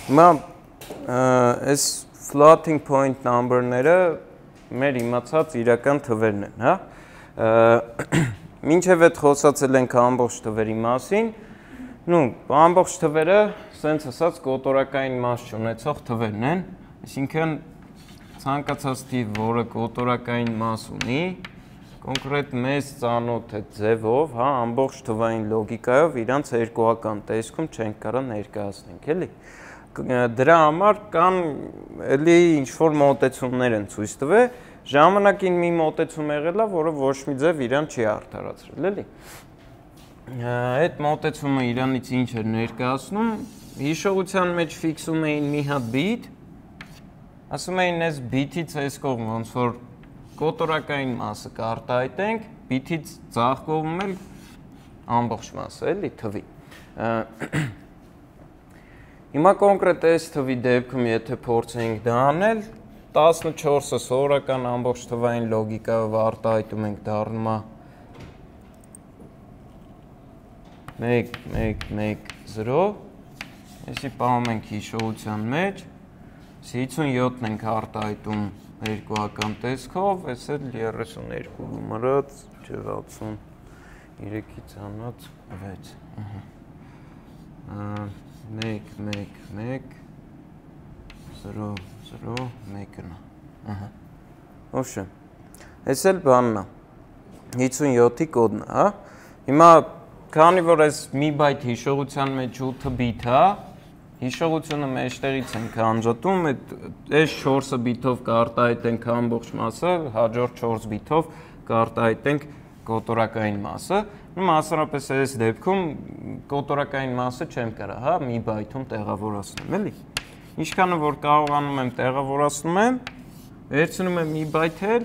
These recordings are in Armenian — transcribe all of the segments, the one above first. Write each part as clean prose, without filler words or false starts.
Հիմա այս floating point number-ները մեր իմացած իրական թվերն են, հա։ Մինչև այդ խոսացել ենք ամբողջ թվերի մասին, ամբողջ թվերը, սենց ասած, կոտորակային մաս չունեցող թվերն են, այսինքն ցանկացած թիվ, որը կոտորակային մաս ունի, կոնկրետ մեզ ծանոթ այդ ձևով, հա, ամբողջ թվային լոգիկայով իրանց երկուական տեսքում չենք կարող ներկայացնենք, էլի։ Դրա համար կան էլի ինչ-որ մոտեցումներ են ցույց տվել, ժամանակին մի մոտեցում եղել է, որը ոչ մի ձև իրան չի արդարացրել, էլի։ Այդ մոտեցումը իրանից ինչ էր ներկայացնում, հիշողության մեջ ֆիքսում էին մի հատ բիտ, ասում էին այս բիթից այս կողմ ոնց որ կոտորակային մասը կարտահայտենք, բիթից ձախ կողմում էլ ամբողջ մասը, էլի, թվի։ Հիմա կոնկրետ այս թվի դեպքում, եթե փորձենք դա անել, 14-ը սովորական ամբողջ թվային լոգիկայով արտահայտում ենք դառնում է 1, 1, 1, 0, այսի պահում ենք հիշողության մեջ, 57-ն ենք արտահայտում երկուական տեսքով, այս էլ 32 գումարած, 63-ից անած 6, 1, 1, 1, 0, 0, 1-ն է, ոչմ, այս էլ բանն է, 57-ի կոդն է, հա, հիմա քանի որ այս մի բայթ հիշողության մեջ 8 բիթ է, հիշողությունը մեջտեղից ենք անջատում, այս 4 բիթով կարտահայտենք ամբողջ մասը, հաջորդ 4 բիթով կարտահայտենք կոտորակային մասը, մասնավորապես այս դեպքում կոտորակային մասը չեմ կարող, հա, մի բայթում տեղավորացնեմ, էլի։ Ինչքանը որ կարողանում եմ տեղավորացնում եմ, վերցնում եմ մի բայթ էլ,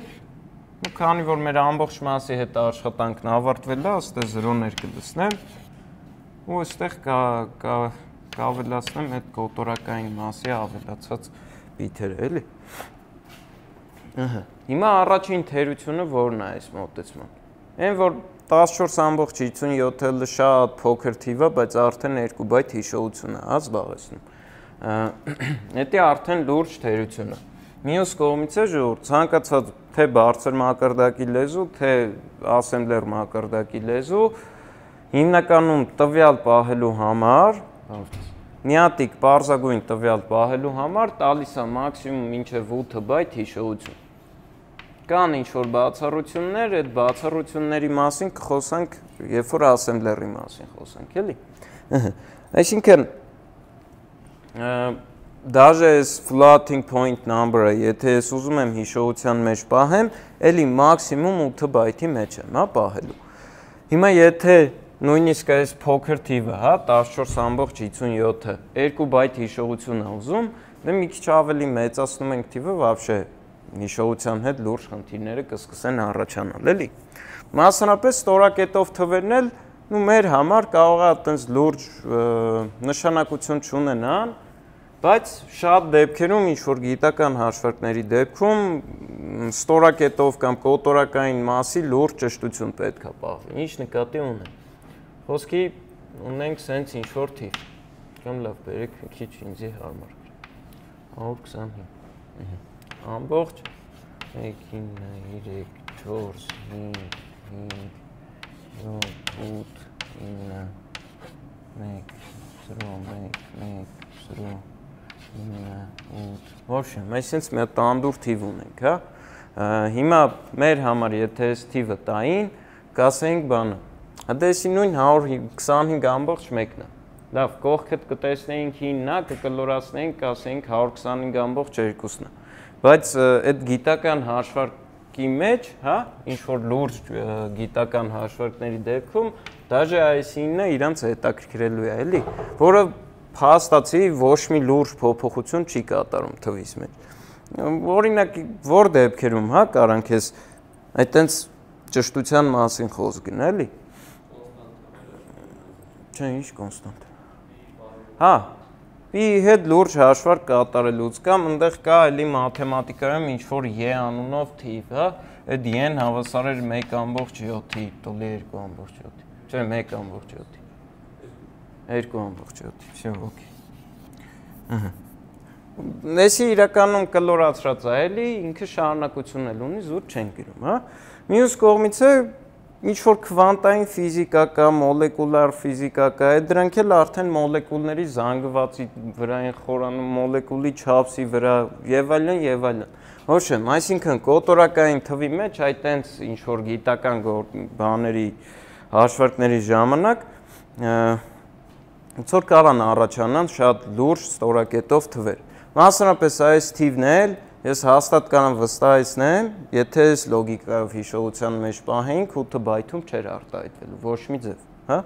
ու քանի որ մեր ամբողջ մասի հետ աշխատանքն ավարտվել է, այստեղ 0-ներ կլցնեմ, ու այստեղ կավելացնեմ այդ կոտորակային մասի ավելացած բիթերը, էլի։ Հիմա առաջին թերությունը որն է այս մոտեցման։ Այն որ 14.57-ը շատ փոքր թիվ է, բայց արդեն 2 բայթ հիշողություն է, հա, զբաղեցնում։ Դա արդեն լուրջ թերություն է։ Մյուս կողմից է ժողովուրդ, ցանկացած թե բարձր մակարդակի լեզու, թե ասեմբլեր մակարդակի լեզու, հիմնականում տվյալ պահելու համար, նյատիկ պարզագույն տվյալ պահելու համար տալիս է մաքսիմում մինչև 8 բայթ հիշողություն։ Կան ինչ-որ բացառություններ, այդ բացառությունների մասին կխոսանք, երբ որ ասեմբլերի մասին խոսանք, էլի։ Այսինքն, դաժե այս floating point number-ը, եթե ես ուզում եմ հիշողության մեջ պահեմ, էլի մաքսիմում 8 բայթի մեջ եմ, հա, պահելու։ Հիմա եթե նույնիսկ այս փոքր թիվը, հա, 14.57-ը 2 բայթ հիշողություն է ուզում, դե մի քիչ ավելի մեծացնում ենք թիվը, вообще հիշողության հետ լուրջ խնդիրները կսկսեն առաջանալ, էլի։ Մասնավորապես ստորակետով թվերն էլ, մեր համար կարող է այտենց լուրջ նշանակություն չունենան, բայց շատ դեպքերում ինչ-որ գիտական հաշվարկների դեպքում ստորակետով կամ կոտորակային մասի լուրջ ճշտություն պետք է պահվի, ինչ նկատի ունեմ։ Խոսքի ունենք սենց ինչ-որ թիվ, կամ լավ բերեք մի քիչ ինձի հարմար, 125, ամբողջ 1, 9, 3, 4, 5, 7, 8, 9, 1, 0, 1, 1, 0, 9, 8, ոչմ, այսինքն մի տանդուր թիվ ունենք, հա, հիմա մեր համար եթե այս թիվը տային, կասենք բանը, հատեսի նույն 125 ամբողջ մեկն է, լավ, կողքդ կտեսնեինք 9-ն է, կկլորացնեինք, կասենք 125 ամբողջ 2-ն է, բայց այդ գիտական հաշվարկի մեջ, հա, ինչ-որ լուրջ գիտական հաշվարկների դեպքում, դաժե այս 9-ը իրանց հետաքրքրելու է, էլի, որը փաստացի ոչ մի լուրջ փոփոխություն չի կատարում թվից մեջ։ Օրինակ, որ դեպքերում, հա, կարանք ես այտենց ճշտության մասին խոսք գնա, էլի։ Չէ, ինչ կոնստանտ։ Հա, ի հետ լուրջ հաշվարկ կատարելուց կամ ընդեղ կա էլի մաթեմատիկայում ինչ-որ ե անունով թիվ, հա, այդ են հավասար էր 1.7-ի, տոլի 2.7-ի, չէ, 1.7-ի, 2.7-ի, վсё, օքեյ։ Նեսի իրականում կլորացրած է էլի, ինքը շարունակություն էլ ունի, զուտ չեն գրում, հա։ Մյուս կողմից է ինչ-որ քվանտային ֆիզիկա կա, մոլեկուլար ֆիզիկա կա, դրանք էլ արդեն մոլեկուլների զանգվածի վրա են խորանում, մոլեկուլի չափսի վրա եւ այլն եւ այլն։ Ոչ եմ, այսինքն կոտորակային թվի մեջ այդ տենց ինչ-որ գիտական բաների հաշվարկների ժամանակ ոնց որ կարան առաջանան շատ լուրջ ստորակետով թվեր։ Մասնավորապես այս թիվն էլ ես հաստատ կարող վստահեցնեմ, եթե այս լոգիկայով հիշողության մեջ պահենք 8 բայթում չէր արտահայտվելու ոչ մի ձև, հա։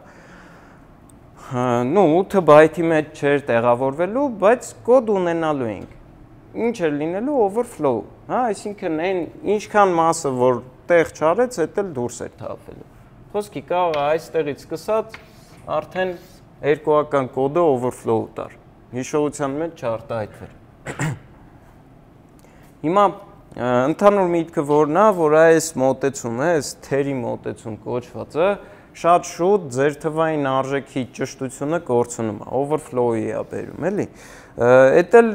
Ну 8 բայթի մեջ չէր տեղավորվելու, բայց կոդ ունենալու ենք։ Ինչ էր լինելու overflow, հա, այսինքն այն ինչքան մասը որ տեղ չարեց, դա էլ դուրս էր թափվելու։ Խոսքի կարող է այստեղից սկսած արդեն երկուական կոդը overflow տար։ Հիշողության մեջ չարտահայտվեր։ Հիմա ընդհանուր միտքը որն է, որ այս մոտեցումը, այս թերի մոտեցում կոչվածը շատ շուտ ձեր թվային արժեքի ճշտությունը կորցնում է, overflow-ի է բերում, էլի։ Դա էլ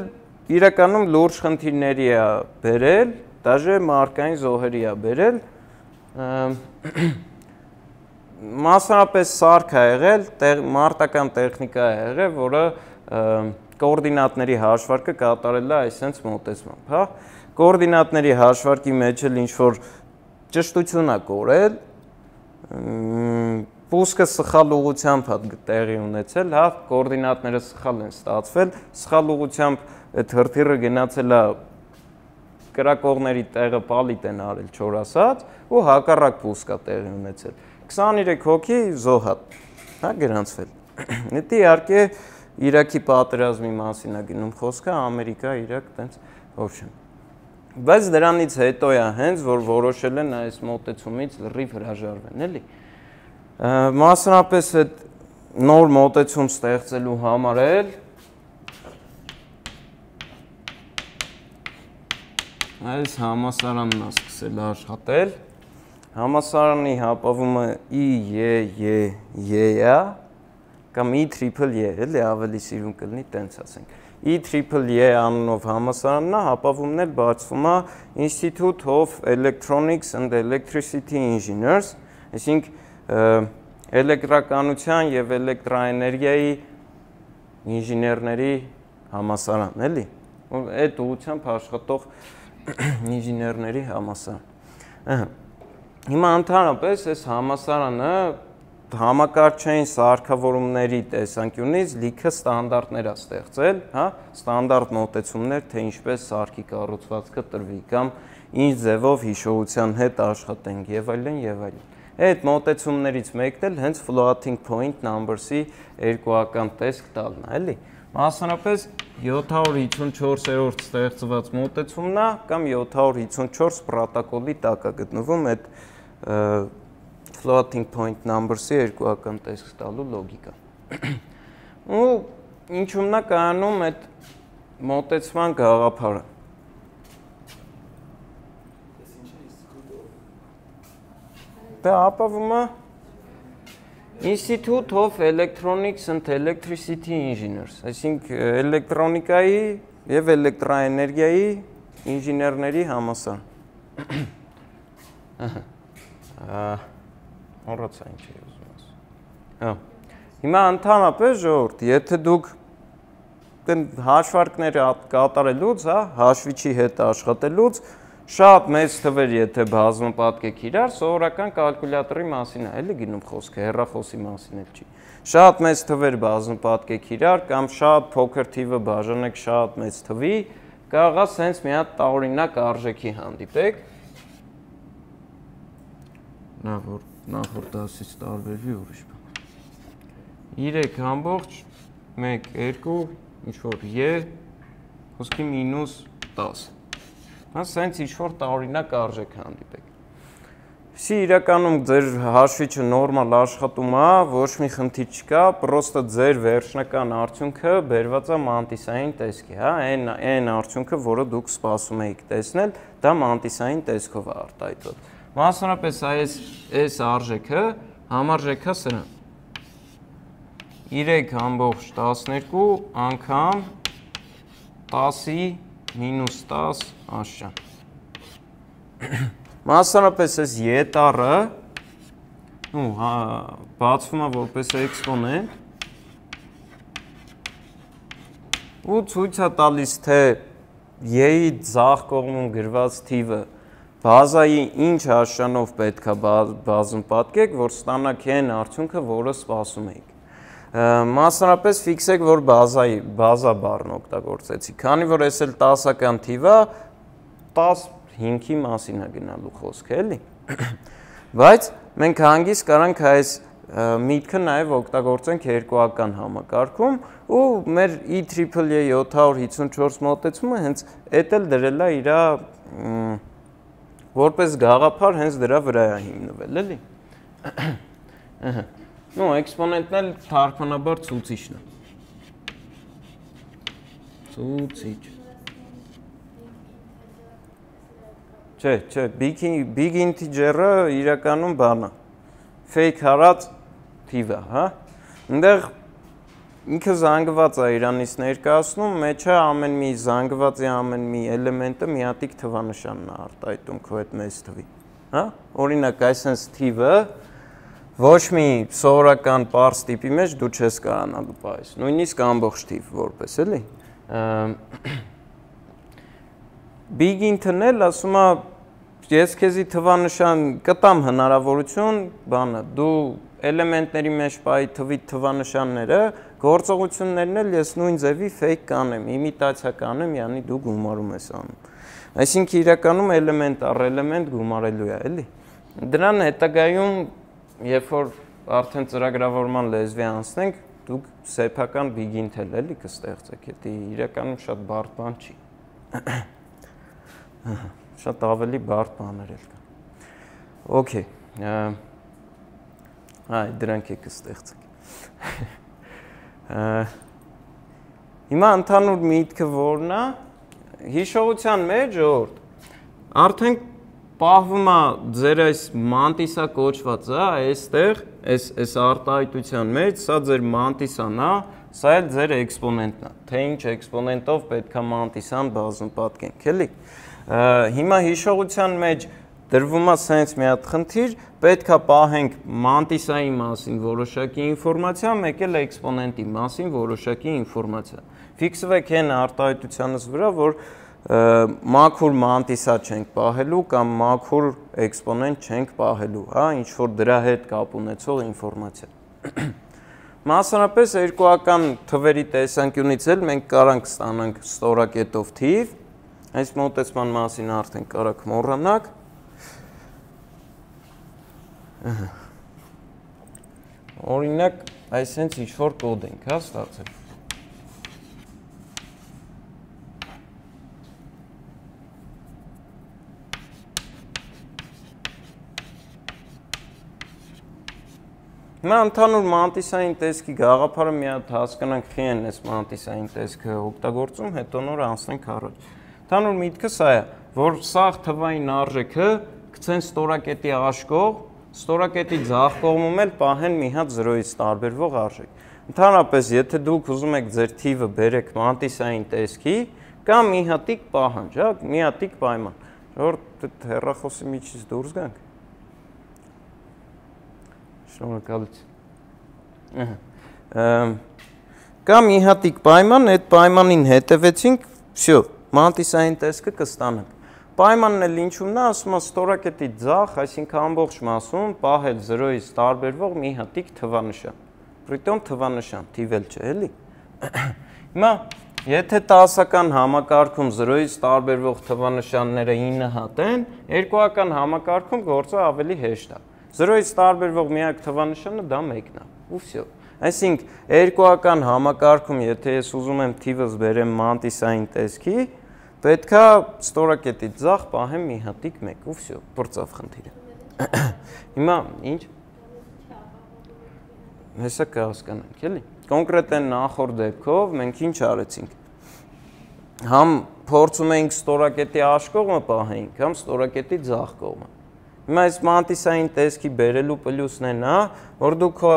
իրականում լուրջ խնդիրների է բերել, դաժե մարկային զոհերի է բերել։ Մասնավորապես սարք է եղել, մարտական տեխնիկա է եղել, որը կոորդինատների հաշվարկը կատարել է այսպես մոտեցմամբ, հա։ Կոորդինատների հաշվարկի մեջ էլ ինչ-որ ճշտություն է կորել, պուսկը սխալ ուղղությամբ է տեղի ունեցել, հա, կոորդինատները սխալ են ստացվել, սխալ ուղղությամբ այդ հրթիռը գնացել է կրակողների տեղը պալիտ են արել չոր ասած ու հակառակ պուսկա տեղի ունեցել 23 հոգի զոհատ, հա, գրանցվել։ Դա իհարկե Իրաքի պատերազմի մասին է գնում խոսքը, Ամերիկա, Իրաք, տենց ոչմ։ Բայց դրանից հետո է հենց որ որոշել են այս մոտեցումից լրիվ հրաժարվեն, էլի։ Մասնավորապես այդ նոր մոտեցում ստեղծելու համար էլ այս համասարանն է սկսել աշխատել։ Համասարանի հապավումը IEEE-ը կամ IEEE, էլի ավելի սիրուն կլինի, տենց ասենք։ IEEE անունով համասարանն է, հապավումն էլ բացվում է Institute of Electronics and Electricity Engineers, այսինքն էլեկտրականության եւ էլեկտրաէներգիայի ինժեներների համասարան, էլի։ Այդ ուղղությամբ աշխատող ինժեներների համասարան։ Հիմա ընդհանրապես այս համասարանը համակարգչային սարքավորումների տեսանկյունից լիքը ստանդարտներ է ստեղծել, հա, ստանդարտ մոտեցումներ, թե ինչպես սարքի կառուցվածքը տրվի կամ ինչ ձևով հիշողության հետ աշխատենք եւ այլն եւ այլն։ Այդ մոտեցումներից մեկն էլ հենց floating point numbers-ի երկուական տեսք տալն է, էլի։ Մասնավորապես 754-րդ ստեղծված մոտեցումն է կամ 754 պրոտոկոլի տակ է գտնվում այդ floating point numbers-ի երկուական տեսք տալու լոգիկան։ Ու ինչումն է կայանում այդ մոտեցման գաղափարը։ Դա ապավում է Institute of Electronics and Electricity Engineers, այսինքն էլեկտրոնիկայի եւ էլեկտրաէներգիայի ինժեներների համասարան։ Մոռացա ինչ էի ուզում ասել։ Հիմա ընդհանրապես ժողովուրդ, եթե դուք հաշվարկներ կատարելուց, հա, հաշվիչի հետ աշխատելուց շատ մեծ թվեր եթե բազմապատկեք իրար, սովորական կալկուլյատորի մասին է, էլի գնում խոսքը, հեռախոսի մասին էլ չի։ Շատ մեծ թվեր բազմապատկեք իրար կամ շատ փոքր թիվը բաժանեք շատ մեծ թվի, կարող է սենց մի հատ տարօրինակ արժեքի հանդիպեք։ Նախորդ դասից տարբերվի ուրիշ բան։ 3 1 2 ինչ-որ է, խոսքի -10։ Հա, սենց ինչ-որ տարօրինակ արժեք հանդիպեք։ Սի իրականում ձեր հաշվիչը նորմալ աշխատում է, ոչ մի խնդիր չկա, պրոստը ձեր վերջնական արդյունքը բերված է մանտիսային տեսքի, հա, այն արդյունքը, որը դուք սպասում եք տեսնել, դա մանտիսային տեսքով է արտահայտված։ Մասնավորապես այս արժեքը համարժեք է սրան։ 3/12 անգամ 10-ի մինուս 10 աշճան։ Մասնարապես այս ետառը բացվում է որպես էքսպոնենտ ու ցույց է տալիս, թե y-ի ձախ կողմում գրված թիվը բազայի ինչ աշճանով պետք է բազում պատկեք, որ ստանաք այն արդյունքը, որը սպասում էիք։ Մասնարապես ֆիքսեք, որ բազա բառն օգտագործեցի, քանի որ այս էլ 10-ական թիվ է, 10 հիմքի մասին է գնալու խոսքը, էլի։ Բայց մենք հանգիստ կարանք այս միտքը նաև օգտագործենք երկուական համակարգում ու մեր IEEE 754 մոտեցումը հենց էդ էլ դրել է իր որպես գաղափար հենց դրա վրա է հիմնվել, էլի։ Էքսպոնենտն էլ թարգմանաբար ցուցիչն է։ Ցուցիչ։ Չէ, big integer-ը իրականում բան է։ Fake հարած թիվ է, հա։ Այնտեղ ինքը զանգված է իրանից ներկայացնում, մեջը ամեն մի զանգվածի ամեն մի էլեմենտը միատիկ թվանշանն է արտահայտում քո այդ մեծ թվի, հա։ Օրինակ, այսպես թիվը ոչ մի սովորական պարզ տիպի մեջ դու չես կարողանալու պահես, նույնիսկ ամբողջ թիվ որպես, էլի։ Big int-ն էլ ասում է, ես քեզի թվանշան կտամ հնարավորություն, բանը, դու էլեմենտների մեջ պահի թվի թվանշանները, գործողություններն էլ ես նույն ձևի fake կանեմ, իմիտացիա կանեմ, յանի դու գումարում ես անում։ Այսինքն իրականում էլեմենտ առ էլեմենտ գումարելու է, էլի։ Դրան հետագայում, երբ որ արդեն ծրագրավորման լեզվի անցնենք, դուք սեփական big int էլ էլի կստեղծեք, դա իրականում շատ բարդ բան չի։ Շատ ավելի բարդ բաներ էլ կան։ Okay։ Այ դրանք եք կստեղծեք։ Հիմա ընդհանուր միտքը որն է, հիշողության մեջ արդեն պահվում է ձեր այս մանտիսա կոչվածը, այստեղ, այս արտահայտության մեջ, սա ձեր մանտիսան է, սա էլ ձեր էքսպոնենտն է, թե ինչ էքսպոնենտով պետք է մանտիսան բազում պատկենք, էլի։ Հիմա հիշողության մեջ դրվում է սենց մի հատ խնդիր, պետք է պահենք մանտիսայի մասին որոշակի ինֆորմացիա, մեկ էլ էքսպոնենտի մասին որոշակի ինֆորմացիա։ Ֆիքսվեք այն արտահայտությանս վրա, որ մաքուր մանտիսա չենք պահելու կամ մաքուր էքսպոնենտ չենք պահելու, հա, ինչ որ դրա հետ կապ ունեցող ինֆորմացիա։ Մասնարապես երկուական թվերի տեսանկյունից էլ մենք կարանք ստանանք ստորակետով թիվ, այս մոտեցման մասին արդեն կարաք մոռանաք։ Օրինակ, այսենց ինչ-որ կոդ ենք, հա, ստացել։ Հիմա ընդհանուր մանտիսային տեսքի գաղափարը մի հատ հասկանանք խի են այս մանտիսային տեսքը օգտագործում, հետո նոր անցնենք առաջ։ Ընդհանուր միտքը սա է, որ սաղ թվային արժեքը գցեն ստորակետի աշկող, ստորակետի ձախ կողմում էլ պահեն մի հատ 0-ից տարբերվող արժեք։ Ընդհանրապես, եթե դուք ուզում եք ձեր թիվը բերեք մանտիսային տեսքի, կամ մի հատիկ պահանջ, հա, մի հատիկ պայման, որ հեռախոսի միջից դուրս գանք։ Շնորհակալություն։ Կամ մի հատիկ պայման, այդ պայմանին հետևեցինք, всё, մանտիսային տեսքը կստանանք։ Պայմանն էլ ինչու՞մն է, ասում է ստորակետի ձախ, այսինքն ամբողջ մասում պահել 0-ից տարբերվող մի հատիկ թվանշան։ Պրիտոմ թվանշան, թիվ էլ չէ, էլի։ Հիմա, եթե 10-ական համակարգում 0-ից տարբերվող թվանշանները 9 հատ են, երկուական համակարգում գործը ավելի հեշտ է։ 0-ից տարբերվող միակ թվանշանը դա 1-ն է, ու всё։ Այսինքն, երկուական համակարգում, եթե ես ուզում եմ թիվս բերեմ մանտիսային տեսքի, պետք է ստորակետից ձախ պահեմ մի հատիկ 1, ու всё, բրծավ խնդիրը։ Հիմա ինչ։ Հեսա կհասկանանք, էլի։ Կոնկրետ այն նախորդ դեպքով մենք ինչ արեցինք։ Համ փորձում էինք ստորակետի աշկողը պահենք, համ ստորակետի ձախ կողմը։ Հիմա այս մանտիսային տեսքի բերելու պլյուսն են, հա, որ դու քո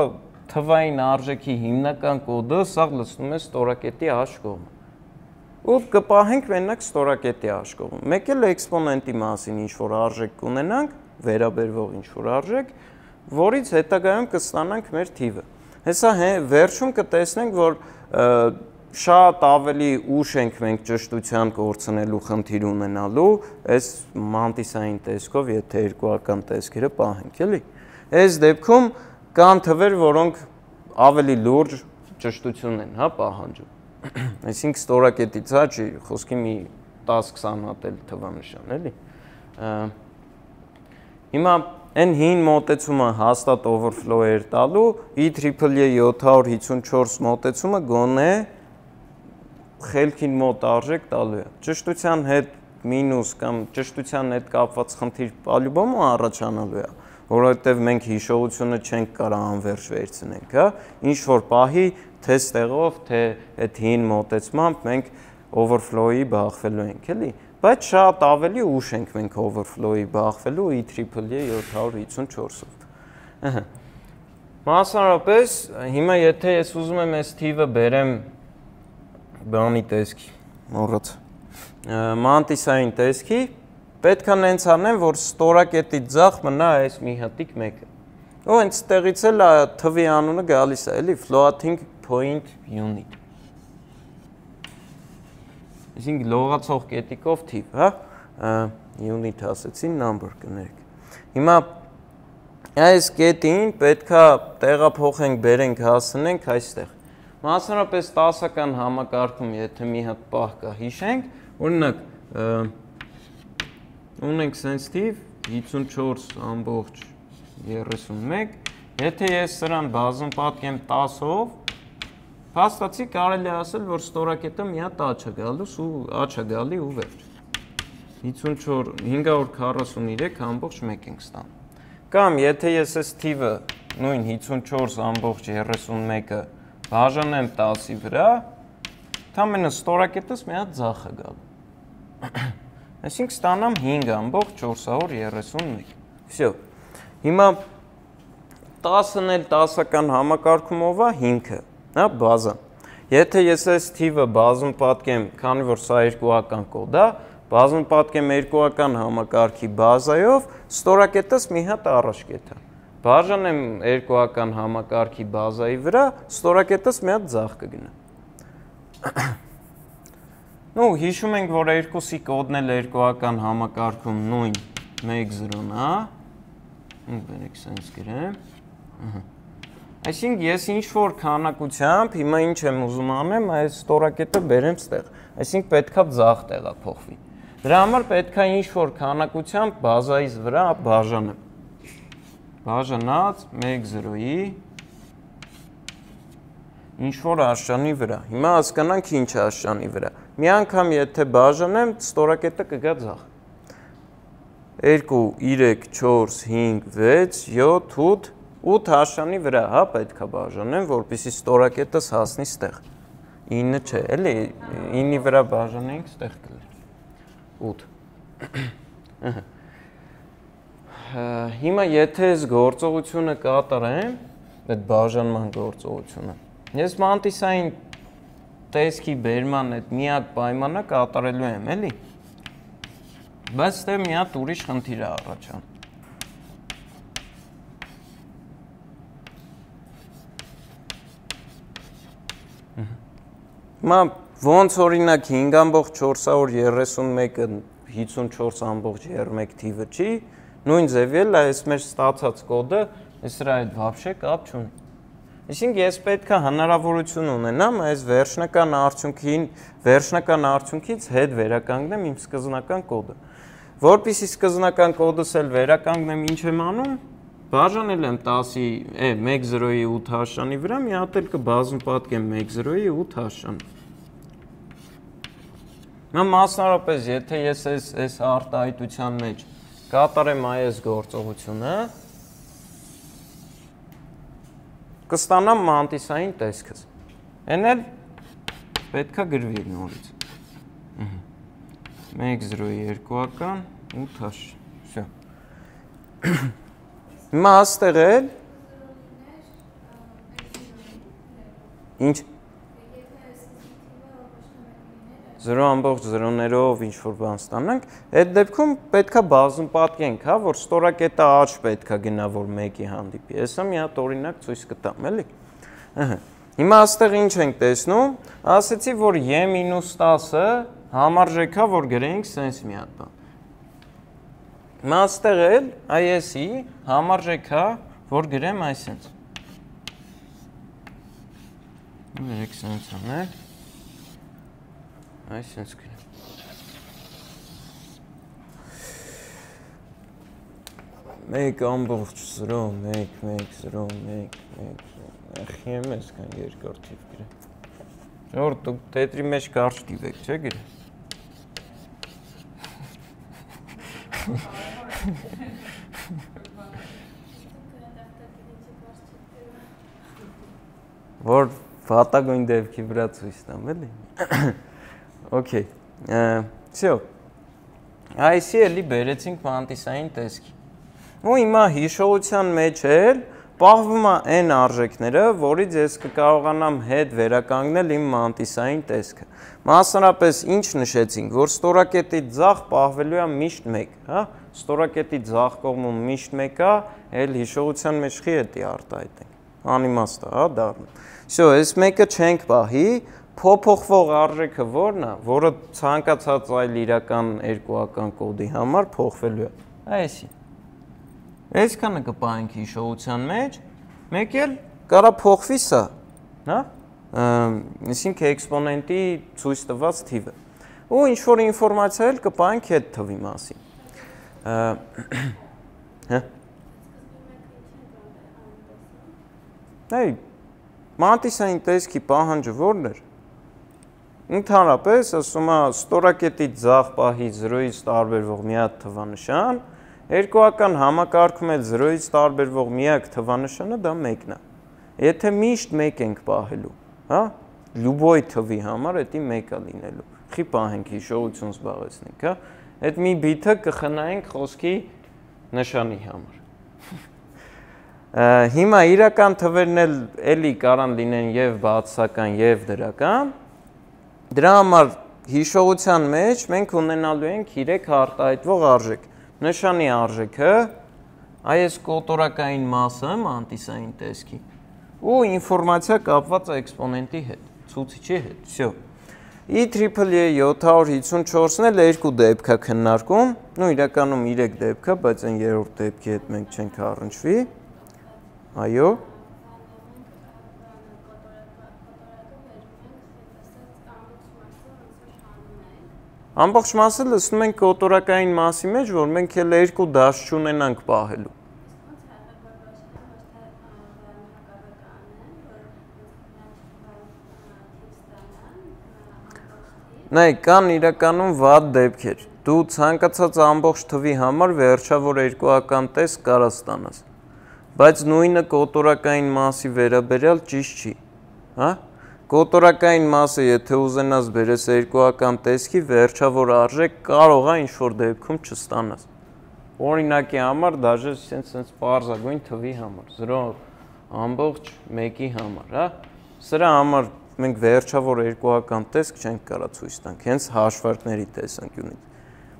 թվային արժեքի հիմնական կոդը սաղ լցնում ես ստորակետի աշկողը։ ու կպահենք մենակ ստորակետի աշկողում։ Մեկ էլ էքսպոնենտի մասին ինչ-որ արժեք կունենանք, վերաբերվող ինչ-որ արժեք, որից հետագայում կստանանք մեր թիվը։ Հեսա վերջում կտեսնենք, որ շատ ավելի ուշ ենք մենք ճշտության կորցնելու խնդիր ունենալու այս մանտիսային տեսքով, եթե երկուական տեսքերը պահենք, էլի։ Այս դեպքում կան թվեր, որոնք ավելի լուրջ ճշտություն են, հա, պահանջում։ Այսինքն ստորակետից հա չի խոսքի մի 10-20 հատ էլ թվանշան, էլի։ Հիմա այն հին մոտեցումը հաստատ overflow էր տալու, IEEE 754 մոտեցումը գոնե խելքին մոտ արժեք տալու է։ Ճշտության հետ մինուս կամ ճշտության հետ կապված խնդիր պալյուբոմ առաջանալու է, որովհետև մենք հիշողությունը չենք կարող անվերջ վերցնենք, հա, ինչ որ պահի թե ստեղով, թե այդ հին մոտեցմամբ մենք overflow-ի բախվելու ենք, էլի, բայց շատ ավելի ուշ ենք մենք overflow-ի բախվելու IEEE 754-ով։ Մասնարարպես, հիմա եթե ես ուզում եմ այս թիվը բերեմ բանի տեսքի, մոռաց, մանտիսային տեսքի, պետք է նենց անեմ, որ ստորակետի ձախ մնա այս մի հատիկ մեկը։ Ու հենց տեղից էլ թվի անունը գալիս է, էլի, floating point unit։ Այսինքն լողացող կետիկով թիվ, հա, unit ասեցի, number կներեք։ Հիմա այս կետին պետքա տեղափոխենք, բերենք, հասնենք այստեղ։ Մասնարարպես 10-ական համակարգում, եթե մի հատ պահ կա, հիշենք, օրինակ, ունենք սենց թիվ 54.31, եթե ես սրան բազում պատկեմ 10-ով, փաստացի կարելի ասել, որ ստորակետը մի հատ աչ է գալի ու վերջ։ 543.1 ենք ստանում։ Կամ եթե ես այս թիվը նույն 54.31-ը բաժանեմ 10-ի վրա, թամենը ստորակետս մի հատ ձախ է գալու։ Այսինքն ստանամ 5.431։ Всё։ Հիմա 10-ն էլ 10-ական համակարգումով է 5-ը, հա, բազա։ Եթե ես այս թիվը բազում պատկեմ, քանի որ սա երկուական կոդ է, բազում պատկեմ երկուական համակարգի բազայով, ստորակետս մի հատ առաջ կեթա։ Բաժանեմ երկուական համակարգի բազայի վրա, ստորակետս մի հատ ձախ կգնա։ Նու հիշում ենք, որ երկուսի կոդն էլ երկուական համակարգում նույն 1-0-ն է, բերեք սենց գրեմ։ Այսինքն ես ինչ-որ քանակությամբ, հիմա ինչ եմ ուզում անեմ, այս ստորակետը բերեմ ստեղ, այսինքն պետքա ձախ տեղափոխվի։ Դրա համար պետքա ինչ-որ քանակությամբ բազայից վրա բաժանեմ։ Բաժանած 1-0-ի ինչ-որ աշճանի վրա։ Հիմա հասկանանք ինչ աշճանի վրա։ Մի անգամ եթե բաժանեմ, ստորակետը կգա ձախ։ 2, 3, 4, 5, 6, 7, 8 աշճանի վրա, հա, պետքա բաժանեմ, որպեսզի ստորակետս հասնի ստեղ։ 9 չէ, էլի, 9-ի վրա բաժանենք, ստեղ կլինի։ 8։ Հիմա եթե այս գործողությունը կատարեմ, այդ բաժանման գործողությունը, ես մանտիսային տեսքի բերման այդ միակ պայմանը կատարելու եմ, էլի։ Բայց ստեղ մի հատ ուրիշ խնդիր է առաջանում։ Հիմա ոնց օրինակ 5.431-ը 54.1 թիվը չի, նույն ձևի էլ այս մեր ստացած կոդը սրա հետ вообще կապ չունի։ Այսինքն ես պետք է հնարավորություն ունենամ այս վերջնական արդյունքից հետ վերականգնեմ իմ սկզբնական կոդը։ Որպեսզի սկզբնական կոդս էլ վերականգնեմ, ինչ եմ անում, բաժանել եմ 10-ի 1-0-ի 8 աշճանի վրա, մի հատ էլ կբազում պատկեմ 1-0-ի 8 աշճանի։ Նա մասնարարպես, եթե ես այս արտահայտության մեջ կատարեմ այս գործողությունը, կստանամ մանտիսային տեսքս։ Են էլ պետքա գրվի նորից։ 1-0-ի երկուական 8 աշճան։ Всё։ Հիմա աստեղ էլ ինչ 0.0-ներով ինչ-որ բան ստանանք, այդ դեպքում պետքա բազում պատկենք, հա, որ ստորակետը H պետքա գնա, որ 1-ի հանդիպի։ Հեսա մի հատ օրինակ ցույց կտամ, էլի։ Հիմա այստեղ ինչ ենք տեսնում, ասեցի, որ y-10-ը համարժեք է, որ գրենք սենց մի հատ բան։ Հիմա այստեղ էլ IS-ի համարժեք է, որ գրեմ այսենց։ Երեք սենց անել, այսենց գրեմ։ Մեկ ամբողջ 0, 1, 1, 0, 1, 1, 0, ախի եմ այսքան երկար թիվ գրեմ։ Որ դուք տետրի մեջ կարճ թիվ եք, չէ՞ գրեմ։ Որ վատագույն դեպքի վրա ցույց տամ, էլի։ Okay։ Всё։ Այսի էլի բերեցինք մանտիսային տեսքի։ Ու հիմա հիշողության մեջ էլ պահվում է n արժեքները, որից ես կկարողանամ հետ վերականգնել իմ մանտիսային տեսքը։ Մասնարապես ինչ նշեցինք, որ ստորակետի ձախ պահվելու է միշտ 1, հա։ Ստորակետի ձախ կողմում միշտ 1 է, էլ հիշողության մեջ խի էտի արտահայտենք։ Անիմաստ է, հա, դառնում։ Всё, այս մեկը չենք պահի, փոփոխվող արժեքը որն է, որը ցանկացած այլ իրական երկուական կոդի համար փոխվելու է։ Այսի։ Այսքանը կպահենք հիշողության մեջ, մեկ էլ կարա փոխվի սա, հա։ Այսինքն էքսպոնենտի ցույց տված թիվը։ Ու ինչ որ ինֆորմացիա էլ կպահենք այդ թվի մասին։ Հա։ Այ մանտիսային տեսքի պահանջը որն էր։ Ընդհանրապես ասում է ստորակետի ձախ պահի 0-ից տարբերվող միակ թվանշան, երկուական համակարգում էլ 0-ից տարբերվող միակ թվանշանը դա 1-ն է։ Եթե միշտ 1 ենք պահելու, հա, լյուբոյ թվի համար դա 1 է լինելու։ Խի պահենք հիշողություն զբաղեցնենք, հա։ Այդ մի բիթը կխնայենք խոսքի նշանի համար։ Հիմա իրական թվերն էլի կարան լինեն եւ բացասական եւ դրական։ Դրա համար հիշողության մեջ մենք ունենալու ենք 3 արտահայտվող արժեք։ Նշանի արժեքը, այս կոտորակային մասը մանտիսային տեսքի ու ինֆորմացիա կապված էքսպոնենտի հետ, ցուցիչի հետ։ Всё։ IEEE 754-ն էլ երկու դեպք է քննարկում, նո իրականում 3 դեպք է, բայց այն երրորդ դեպքի հետ մենք չենք առնչվի։ Այո։ Ամբողջ մասը լսում ենք կոտորակային մասի մեջ, որ մենք էլ երկու դաշտ չունենանք պահելու։ Նայ, կան իրականում վատ դեպքեր։ Դու ցանկացած ամբողջ թվի համար վերջավոր երկուական տեսք կարաս ստանաս։ Բայց նույնը կոտորակային մասի վերաբերյալ ճիշտ չի, հա։ Կոտորակային մասը, եթե ուզենաս բերես երկուական տեսքի, վերջավոր արժեք կարող է ինչ-որ դեպքում չստանաս։ Օրինակի համար, դաժե սենց պարզագույն թվի համար, 0.1-ի համար, հա։ Սրա համար մենք վերջավոր երկուական տեսք չենք կարա ցույց տանք, հենց հաշվարկների տեսանկյունից։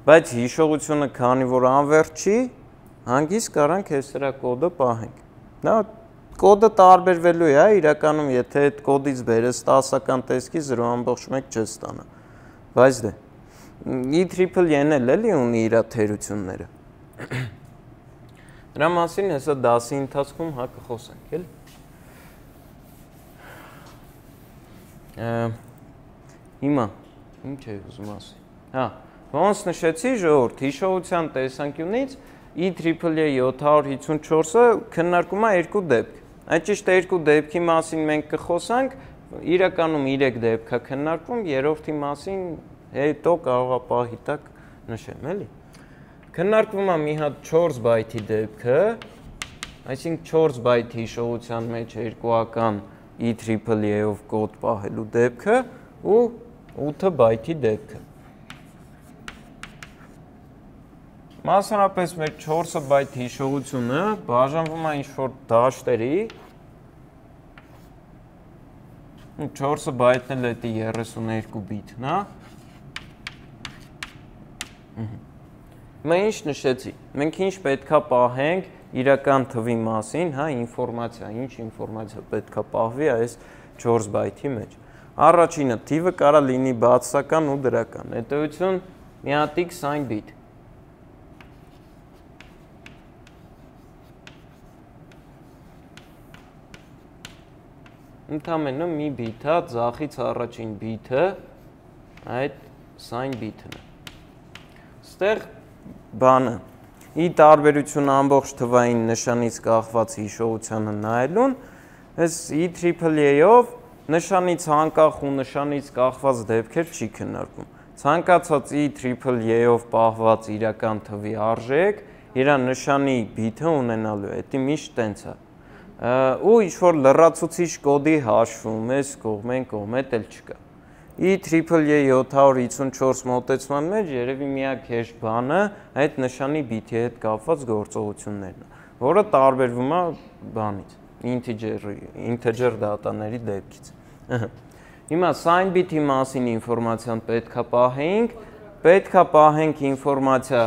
Բայց հիշողությունը, քանի որ անվերջ չի, հանգիստ կարանք այս սրա կոդը պահենք։ Նա կոդը տարբերվելու է, իրականում եթե այդ կոդից բերես 10-ական տեսքի 0.1 չես ստանա։ Բայց դե IEEE-ն էլ էլի ունի իր թերությունները։ Դրա մասին հեսա դասի ընթացքում հա կխոսենք, էլի։ Հիմա ինչ է ուզում ասի։ Հա, ոնց նշեցի ժողովուրդ, հիշողության տեսանկյունից IEEE 754-ը քննարկում է երկու դեպք։ Այդ ճիշտ երկու դեպքի մասին մենք կխոսանք, իրականում 3 դեպք է քննարկվում, երրորդի մասին հետո կարող է պահի տակ նշեմ, էլի։ Քննարկվում է մի հատ 4 բայթի դեպքը, այսինքն 4 բայթ հիշողության մեջ երկուական IEEE-ով կոդ պահելու դեպքը ու 8 բայթի դեպքը։ Մասնարապես մեր 4 բայթ հիշողությունը բաժանվում է ինչ-որ դաշտերի 4 բայթն էլ էտի 32 բիթն է, Մենք ինչ նշեցի։ Մենք ինչ պետքա պահենք իրական թվի մասին, հա, ինֆորմացիա, ինչ ինֆորմացիա պետքա պահվի այս 4 բայթի մեջ։ Առաջինը թիվը կարա լինի բացասական ու դրական։ Հետևություն միատիկ sign bit։ Ընդամենը մի բիթա, ձախից առաջին բիթը այդ sign bit-ն է։ Ստեղ բանը ի տարբերություն ամբողջ թվային նշանից կախված հիշողությանը նայելուն, այս EAAA-ով նշանից անկախ ու նշանից կախված դեպքեր չի քննարկվում։ Ցանկացած EAAA-ով պահված իրական թվի արժեք իր նշանի բիթը ունենալու է, դա միշտ տենց է։ Ու ինչ-որ լրացուցիչ կոդի հաշվում, այս կողմ էլ չկա։ EAAA 754 մոտեցման մեջ երևի միակ հեշտ բանը այդ նշանի բիթի հետ կապված գործողություններն է, որը տարբերվում է բանից, integer դատաների դեպքից։ Հիմա sign bit-ի մասին ինֆորմացիան պետքա պահենք ինֆորմացիա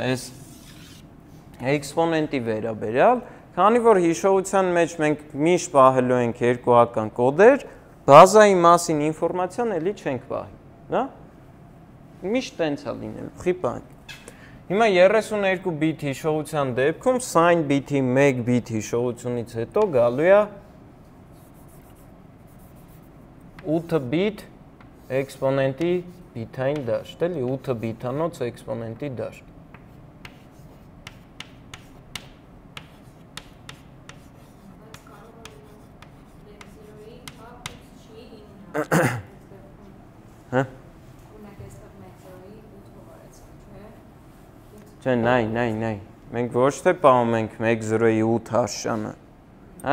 այս էքսպոնենտի վերաբերյալ, քանի որ հիշողության մեջ մենք միշտ պահելու ենք երկուական կոդեր, բազայի մասին ինֆորմացիան էլի չենք պահի, հա? Միշտ տենց է լինելու, խիպանք։ Հիմա 32 բիթ հիշողության դեպքում sign bit-ի 1 բիթ հիշողությունից հետո գալու է 8 բիթ էքսպոնենտի բիթային դաշտ, էլի 8 բիթանոց էքսպոնենտի դաշտ։ Հա? Չէ, նայ, մենք ոչ թե պահում ենք 1.0-ի 8 հաշճանը,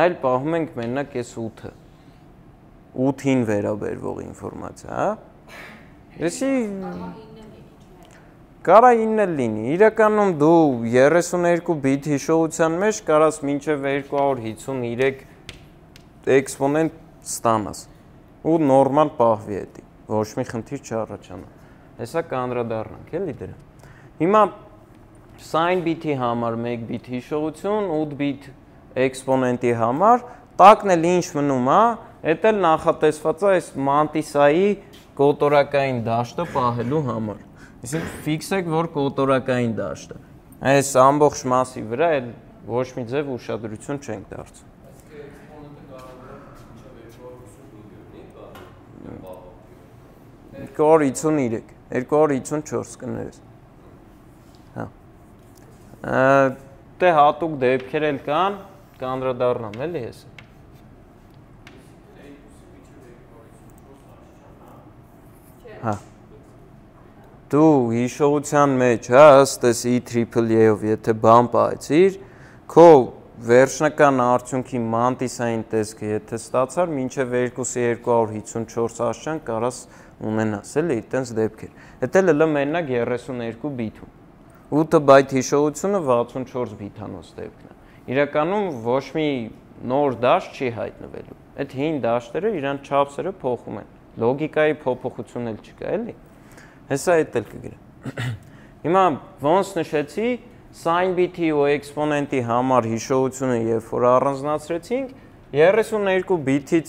այլ պահում ենք մենակ այս 8-ը, 8-ին վերաբերվող ինֆորմացիա, հա? Եսի կարա 9 լինի, իրականում դու 32 բիթ հիշողության մեջ կարաս մինչև 253 էքսպոնենտ ստանաս ու նորմալ պահվի էդի, ոչ մի խնդիր չառաջանա, հեսա կանդրադառնանք էլի դրա։ Հիմա sign bit-ի համար 1 բիթ հիշողություն, 8 բիթ էքսպոնենտի համար, տակն էլ ինչ մնում է, էդ էլ նախատեսված է այս mantis-այի կոտորակային դաշտը պահելու համար։ Այսինքն ֆիքսեք, որ կոտորակային դաշտը։ Այս ամբողջ մասի վրա էլ ոչ մի ձև ուշադրություն չենք դարձնում։ Կոր 53, 254 կներես։ Հա։ Դե հատուկ դեպքեր էլ կան, կանդրադառնամ էլի ես։ Հա։ Դու հիշողության մեջ, հա, ըստ էս EAAA-ով եթե բան պահեցիր, քո վերջնական արդյունքի mantis-ային տեսքը եթե ստացար, մինչև 2.254 աշճան կարաս ունենաս, էլի, այդտենց դեպքեր։ Էդ էլ մենակ 32 բիթում։ 8 բայթ հիշողությունը 64 բիթանոց դեպքն է։ Իրականում ոչ մի նոր դաշտ չի հայտնվելու։ Այդ հին դաշտերը իրան չափսերը փոխում են։ Լոգիկայի փոփոխություն էլ չկա, էլի։ Հեսա էդ էլ կգրեմ։ Հիմա ոնց նշեցի, sign bit-ի ու էքսպոնենտի համար հիշողությունը երբ որ առանձնացրեցինք, 32 բիթից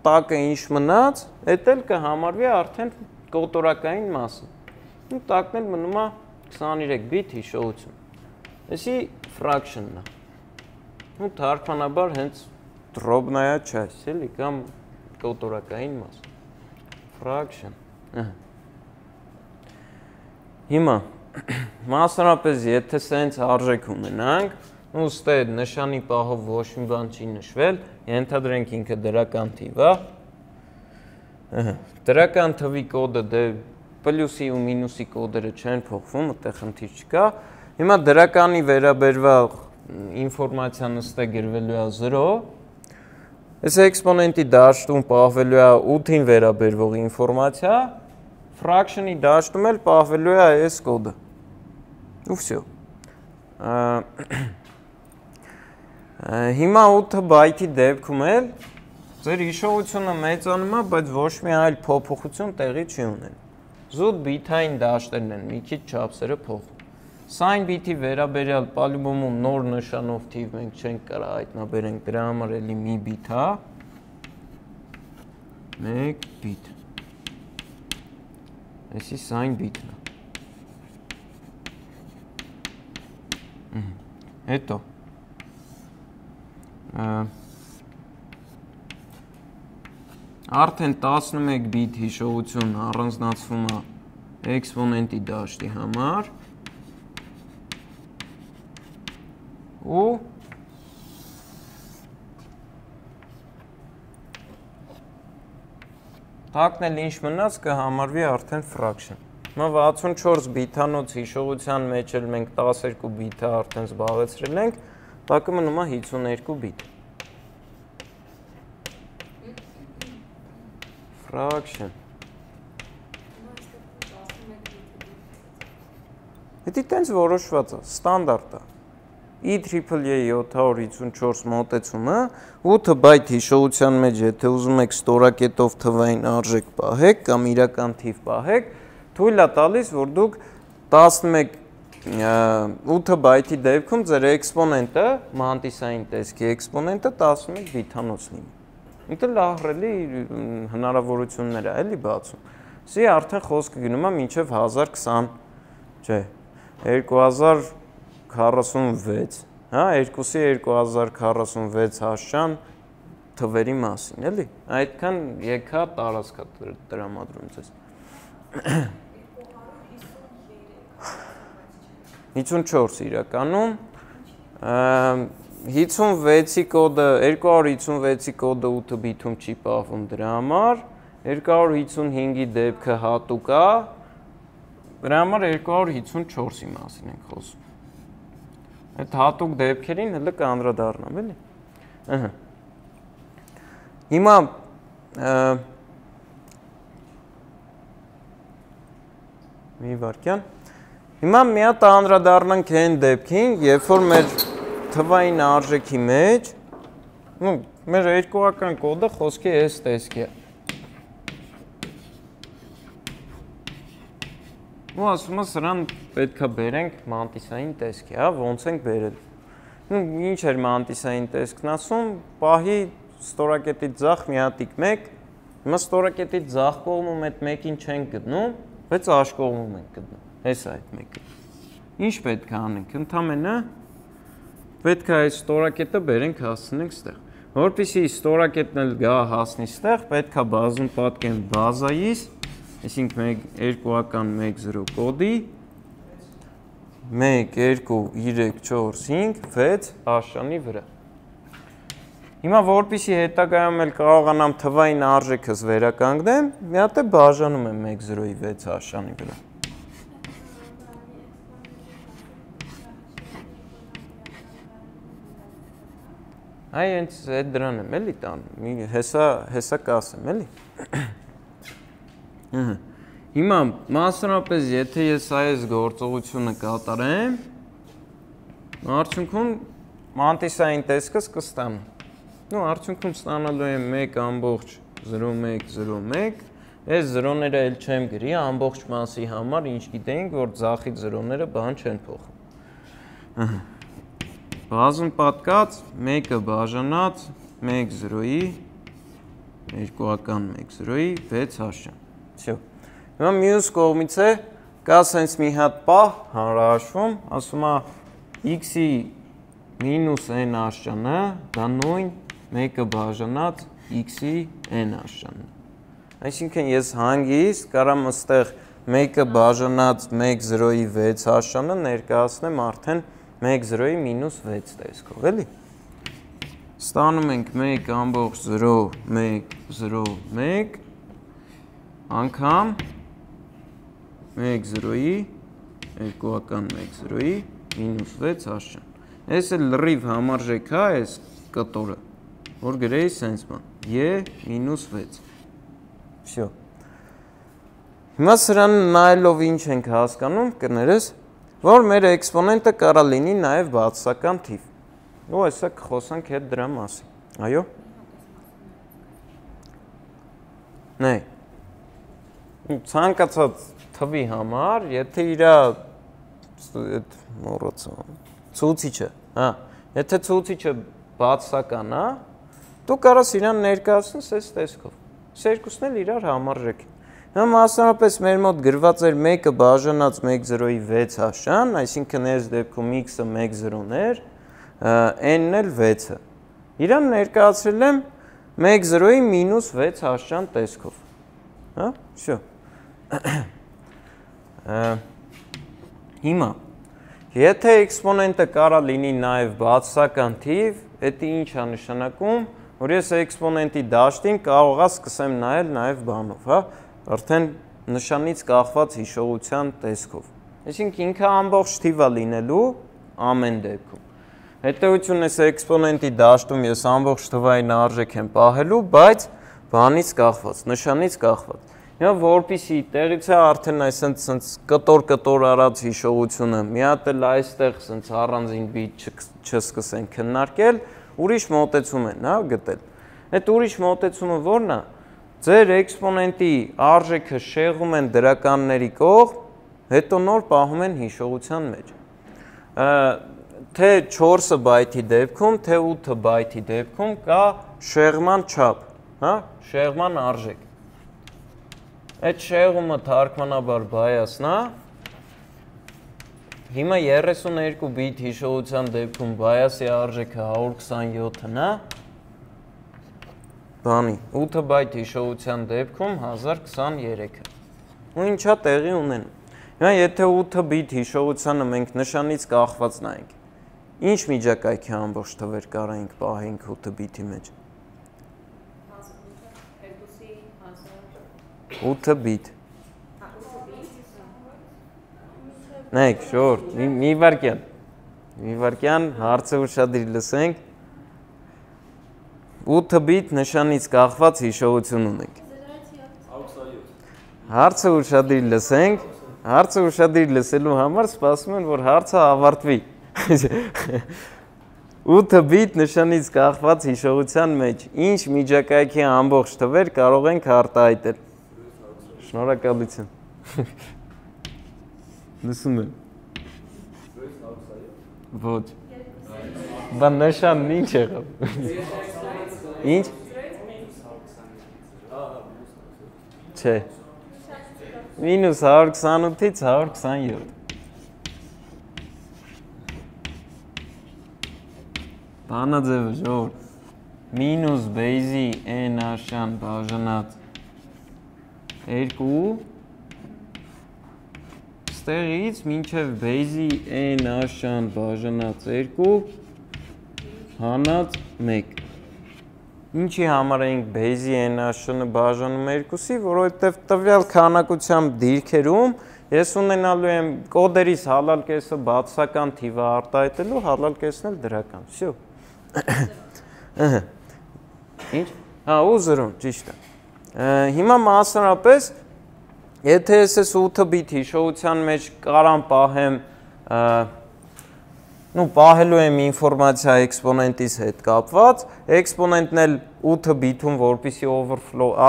տակը ինչ մնաց, էդ էլ կհամարվի արդեն կոտորակային մասը։ Ու տակն էլ մնում է 23 բիթ հիշողություն։ Այսի fraction-ն է։ Ու թարգմանաբար հենց դրոբնայա часть, էլի, կամ կոտորակային մաս։ Fraction։ Հիմա մասնարապես եթե սենց արժեք ունենանք, ու ստե նշանի պահով ոչ մի բան չի նշվել, ենթադրենք ինքը դրական թիվ է։ Դրական թվի կոդը դե պլյուսի ու մինուսի կոդերը չեն փոխվում, այդտեղ խնդիր չկա։ Հիմա դրականի վերաբերյալ ինֆորմացիան ստե գրվելու է 0։ Այս էքսպոնենտի դաշտում պահվելու է 8-ին վերաբերվող ինֆորմացիա, fraction-ի դաշտում էլ պահվելու է այս կոդը։ Ու վсё։ Հիմա 8 բայթի դեպքում էլ ձեր հիշողությունը մեծանում է, բայց ոչ մի այլ փոփոխություն տեղի չի ունենում։ զուտ բիթային դաշտերն են, մի քիչ չափսերը փոխում։ Սայն բիթի վերաբերյալ պալյուբոմում նոր նշանով թիվ մենք չենք կարող հայտնաբերենք, դրա համար էլի մի բիթ է, 1 բիթ։ Այսի սայն բիթն է։ Հետո արդեն 11 բիթ հիշողություն առանձնացվում է էքսպոնենտի դաշտի համար ու տակն էլ ինչ մնաց կհամարվի արդեն fraction։ Հիմա 64 բիթանոց հիշողության մեջ էլ մենք 12 բիթը արդեն զբաղեցրել ենք, տակը մնում է 52 բիթ։ Fraction։ Հետի տենց որոշված է, ստանդարտ է։ IEEE 754 մոտեցումը 8 բայթ հիշողության մեջ եթե ուզում եք ստորակետով թվային արժեք պահեք կամ իրական թիվ պահեք, թույլ է տալիս, որ դուք 8 բայթի դեպքում ձեր էքսպոնենտը, մանտիսային տեսքի էքսպոնենտը 11 բիթանոց լինի։ Ինքը լահռելի հնարավորություններ է էլի բացում։ Սի արդեն խոսքը գնում է մինչև 1020, չէ, 2046, հա, 2-ի 2046 հաշճան թվերի մասին, էլի։ Այդքան եկա տարածքա տրամադրում ձեզ։ 54 իրականում, 56-ի կոդը, 256-ի կոդը 8 բիթում չի պահվում դրա համար, 255-ի դեպքը հատուկ է, դրա համար 254-ի մասին ենք խոսում։ Այդ հատուկ դեպքերին հələ կանդրադառնամ, էլի։ Հիմա մի վարքյան։ Հիմա մի հատ անդրադառնանք այն դեպքին, երբ որ մեր թվային արժեքի մեջ, մեր երկուական կոդը խոսքի այս տեսքի է։ Ու ասում է սրան պետք է բերենք մանտիսային տեսքի, հա, ոնց ենք բերել։ Ինչ էր մանտիսային տեսքն ասում, պահի ստորակետից ձախ մի հատիկ 1, հիմա ստորակետից ձախ կողմում այդ 1-ին չենք գտնում, բայց աշ կողմում ենք գտնում։ Հեսա այդ մեկը։ Ինչ պետք է անենք, ընդամենը պետք է այս ստորակետը բերենք հասցնենք ստեղ։ Որպեսզի ստորակետն էլ գա հասնի ստեղ, պետք է բազում պատկեն բազայից, այսինքն 2-ական 1-0 կոդի 1, 2, 3, 4, 5, 6 աշճանի վրա։ Հիմա որպեսզի հետագայում էլ կարողանամ թվային արժեքս վերականգնեմ, մի հատ է բաժանում եմ 1-0-ի 6 աշճանի վրա։ Այ հենց այդ դրան եմ էլի տանում, հեսա կասեմ էլի։ Հիմա մասնավորապես եթե ես այս գործողությունը կատարեմ, արդյունքում մանտիսային տեսքս կստանամ։ Արդյունքում ստանալու եմ 1.0101, այս զրոները էլ չեմ գրի, ամբողջ մասի համար ինչ գիտեինք, որ ձախից զրոները բան չեն փոխում։ Բազում պատկած, 1-ը բաժանած, 1-0-ի, 2-ական 1-0-ի, 6 աշճան։ Всё։ Հիմա մյուս կողմից է, կա սենց մի հատ պահ հանրահաշվում, ասում է x-ի մինուս n աշճանը, դա նույն 1-ը բաժանած x-ի n աշճանն է։ Այսինքն ես հանգիստ կարամ ըստեղ 1-ը բաժանած 1-0-ի 6 աշճանը ներկայացնեմ արդեն 1-0-ի մինուս 6 տեսքով, էլի։ Ստանում ենք 1.0.1.0.1 անգամ 1-0-ի 2-ական 1-0-ի մինուս 6 աշճան։ Այս էլ լրիվ համարժեք է այս կտորը, որ գրեի սենց բան, e մինուս 6։ Всё։ Հիմա սրան նայելով ինչ ենք հասկանում, կներես, որ մեր էքսպոնենտը կարա լինի նաև բացասական թիվ։ Ու այսա կխոսանք հետ դրա մասին։ Այո։ Նայ։ ցանկացած թվի համար, եթե իր ցուցիչը, եթե ցուցիչը բացական է, դու կարաս իրան ներկայացնես այս տեսքով։ Այս երկուսն էլ իրար համարժեք են։ Հիմա մասնավորապես մեր մոտ գրված էր 1-ը բաժանած 1-0-ի 6 աշան, այսինքն այս դեպքում x-ը 1-0-ն էր, n-ն էլ 6-ը։ Իրան ներկայացրել եմ 1-0-ի -6 աշան տեսքով։ Հա, всё։ Հիմա եթե էքսպոնենտը կարա լինի նաև բացասական թիվ, դա ինչ է նշանակում, որ ես էքսպոնենտի դաշտին կարողա սկսեմ նայել նաև բանով, հա, արդեն նշանից կախված հիշողության տեսքով։ Այսինքն ինքը ամբողջ թիվ է լինելու ամեն դեպքում։ Հետևությունն էս էքսպոնենտի դաշտում ես ամբողջ թվային արժեք եմ պահելու, բայց բանից կախված, նշանից կախված։ Հիմա որպեսզի տեղից է արդեն այսպես կտոր արած հիշողությունը, մի հատ էլ այստեղ ասենց առանձին բիտ չսկսեն քննարկել, ուրիշ մոտեցում են, հա, գտել։ Այդ ուրիշ մոտեցումը ո՞րն է։ Ձեր էքսպոնենտի արժեքը շեղում են դրականների կողմ, հետո նոր պահում են հիշողության մեջ։ Թե 4 բայթի դեպքում, թե 8 բայթի դեպքում կա շեղման չափ, հա, շեղման արժեք։ Այդ շեղումը թարգմանաբար բայասն է։ Հիմա 32 բիտ հիշողության դեպքում բայասի արժեքը 127-ն է։ Բանի 8 բայթ հիշողության դեպքում 1023-ը։ Ու ինչա տեղի ունեն։ Հիմա եթե 8 բիտ հիշողությանը մենք նշանից կախված նայենք, ինչ միջակայքի ամբողջ թվեր կարայինք պահենք 8 բիթի մեջ։ 8 բիտ։ Նայեք, շորտ, մի վարկյան, հարցը ուշադրի լսենք։ 8 բիտ նշանից կախված հիշողություն ունենք։ Հարցը ուշադրի լսենք, հարցը ուշադրի լսելու համար սպասում են, որ հարցը ավարտվի։ 8 բիտ նշանից կախված հիշողության մեջ ինչ միջակայքի ամբողջ թվեր կարող ենք արտահայտել։ Շնորհակալություն։ Լսում եմ։ Ոչ։ Բան նշանն ինչ եղավ։ Ինչ։ Չէ։ -128-ից 127։ Բանաձևը ժողովուրդ։ Մինուս բեյզի n աշան բաժանած 2 ստեղից մինչև բեյզի n աշան բաժանած 2 հանած 1։ Ինչի համար էինք բեյզի n աշանը բաժանում 2-ի, որովհետև տվյալ քանակությամբ դիրքերում ես ունենալու եմ կոդերից հալալ կեսը բացասական թիվը արտահայտելու, հալալ կեսն էլ դրական։ Всё։ Ինչ։ Հա, ու 0, ճիշտ է։ Հիմա մասնարապես եթե ես այս 8 բիտ հիշողության մեջ կարամ պահեմ, պահելու եմ ինֆորմացիա էքսպոնենտիս հետ կապված, էքսպոնենտն էլ 8 բիթում, որպեսզի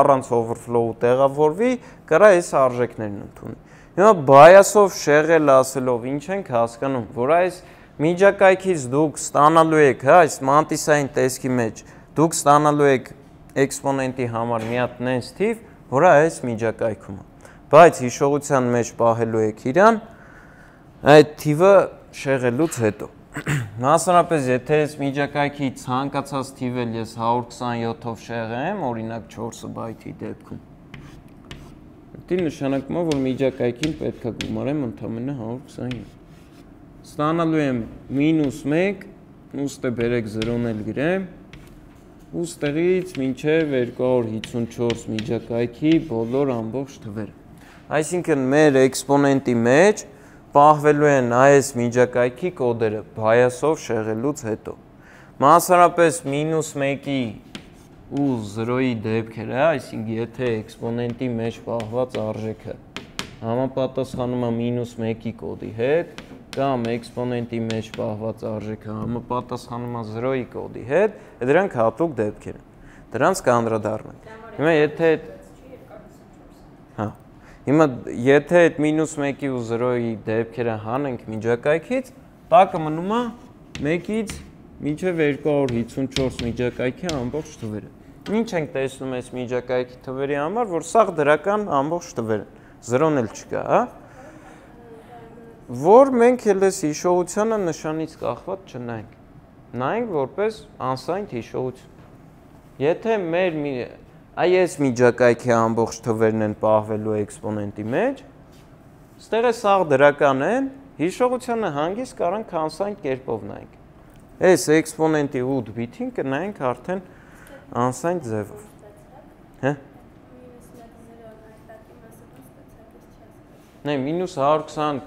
առանց overflow տեղավորվի, կարա այս արժեքներն ընդունի։ Հիմա բայասով շեղել ասելով ինչ ենք հասկանում, որ այս միջակայքից դուք ստանալու եք, հա, այս մանտիսային տեսքի մեջ, դուք ստանալու եք էքսպոնենտի համար մի հատ նենց թիվ, որը այս միջակայքում է։ Բայց հիշողության մեջ պահելու եք իրան, այդ թիվը շեղելուց հետո։ Մասնարապես եթե այս միջակայքի ցանկացած թիվ էլ ես 127-ով շեղեմ, օրինակ 4 բայթի դեպքում, դա նշանակում է, որ միջակայքին պետք է գումարեմ ընդամենը 127։ Ստանալու եմ -1, ուստի բերեք 0-ն էլ գրեմ, ու ստեղից մինչև 254 միջակայքի բոլոր ամբողջ թվերը։ Այսինքն մեր էքսպոնենտի մեջ պահվելու են այս միջակայքի կոդերը բայասով շեղելուց հետո։ Մասնարապես -1-ի ու 0-ի դեպքերը, այսինքն եթե էքսպոնենտի մեջ պահված արժեքը համապատասխանում է -1-ի կոդի հետ, կամ էքսպոնենտի մեջ պահված արժեքը համապատասխանում է 0-ի կոդի հետ, դրանք հատուկ դեպքեր են։ Դրանց կանդրադառնանք։ Հիմա եթե Հիմա եթե այդ -1-ի ու 0-ի դեպքերը հանենք միջակայքից, տակը մնում է 1-ից մինչև 254 միջակայքի ամբողջ թվերը։ Ինչ ենք տեսնում այս միջակայքի թվերի համար, որ սաղ դրական ամբողջ թվեր են, 0-ն էլ չկա, հա? Որ մենք էլ այս հիշողությանը նշանից կախված չնայենք։ Նայենք որպես անսայնտ հիշողություն։ Եթե մեր այս միջակայքի ամբողջ թվերն են պահվելու էքսպոնենտի մեջ, ստեղ է սաղ դրական են, հիշողությանը հանգիստ կարանք անսայնտ կերպով նայենք։ Այս էքսպոնենտի 8 բիթին կնայենք արդեն անսայնտ ձևով։ Հե՞։ Նայ -120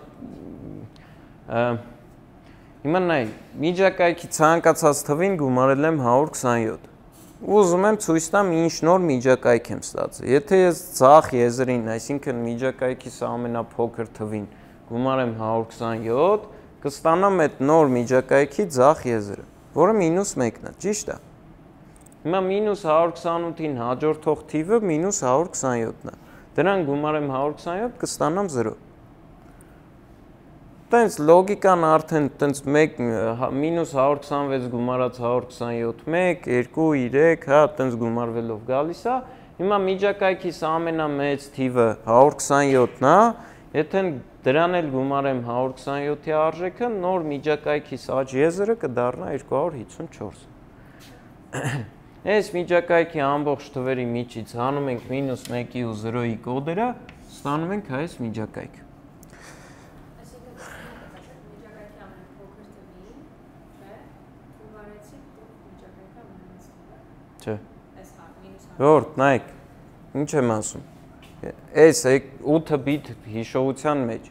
հիմա նայ միջակայքի ցանկացած թվին գումարել եմ 127։ Ուզում եմ ցույց տամ ինչ նոր միջակայք եմ ստացել։ Եթե ես ցախ եզրին, այսինքն միջակայքիս ամենափոքր թվին գումարեմ 127, կստանամ այդ նոր միջակայքի ցախ եզրը, որը -1-ն է, ճիշտ է։ Հիմա -128-ին հաջորդող թիվը -127-ն է։ Դրան գումարեմ 127, կստանամ 0։ Տենց լոգիկան արդեն տենց -126 գումարած 127, 1, 2, 3, հա, տենց գումարվելով գալիս է։ Հիմա միջակայքիս ամենամեծ թիվը 127-ն է, եթե դրան էլ գումարեմ 127-ի արժեքը, նոր միջակայքիս աճ եզրը կդառնա 254։ Այս միջակայքի ամբողջ թվերի միջից հանում ենք -1-ի ու 0-ի կոդերը, ստանում ենք այս միջակայքը։ Չէ։ Որդ, նայեք, ինչ եմ ասում։ Այս 8 բիթ հիշողության մեջ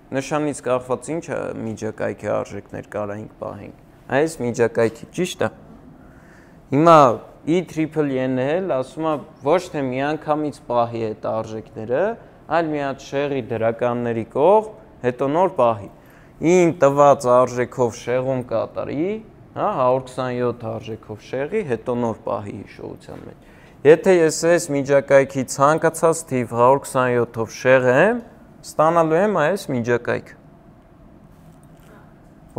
նշանից կախված ինչ միջակայքի արժեքներ կարայինք պահենք։ Այս միջակայքի, ճիշտ է։ Հիմա IEEE-ն էլ ասում է ոչ թե միանգամից պահի այդ արժեքները, այլ մի հատ շեղի դրականների կողմ, հետո նոր պահի։ Ին տված արժեքով շեղում կատարի, հա, 127 արժեքով շեղի, հետո նոր պահի հիշողության մեջ։ Եթե ես այս միջակայքի ցանկացած թիվ 127-ով շեղեմ, ստանալու եմ այս միջակայքը։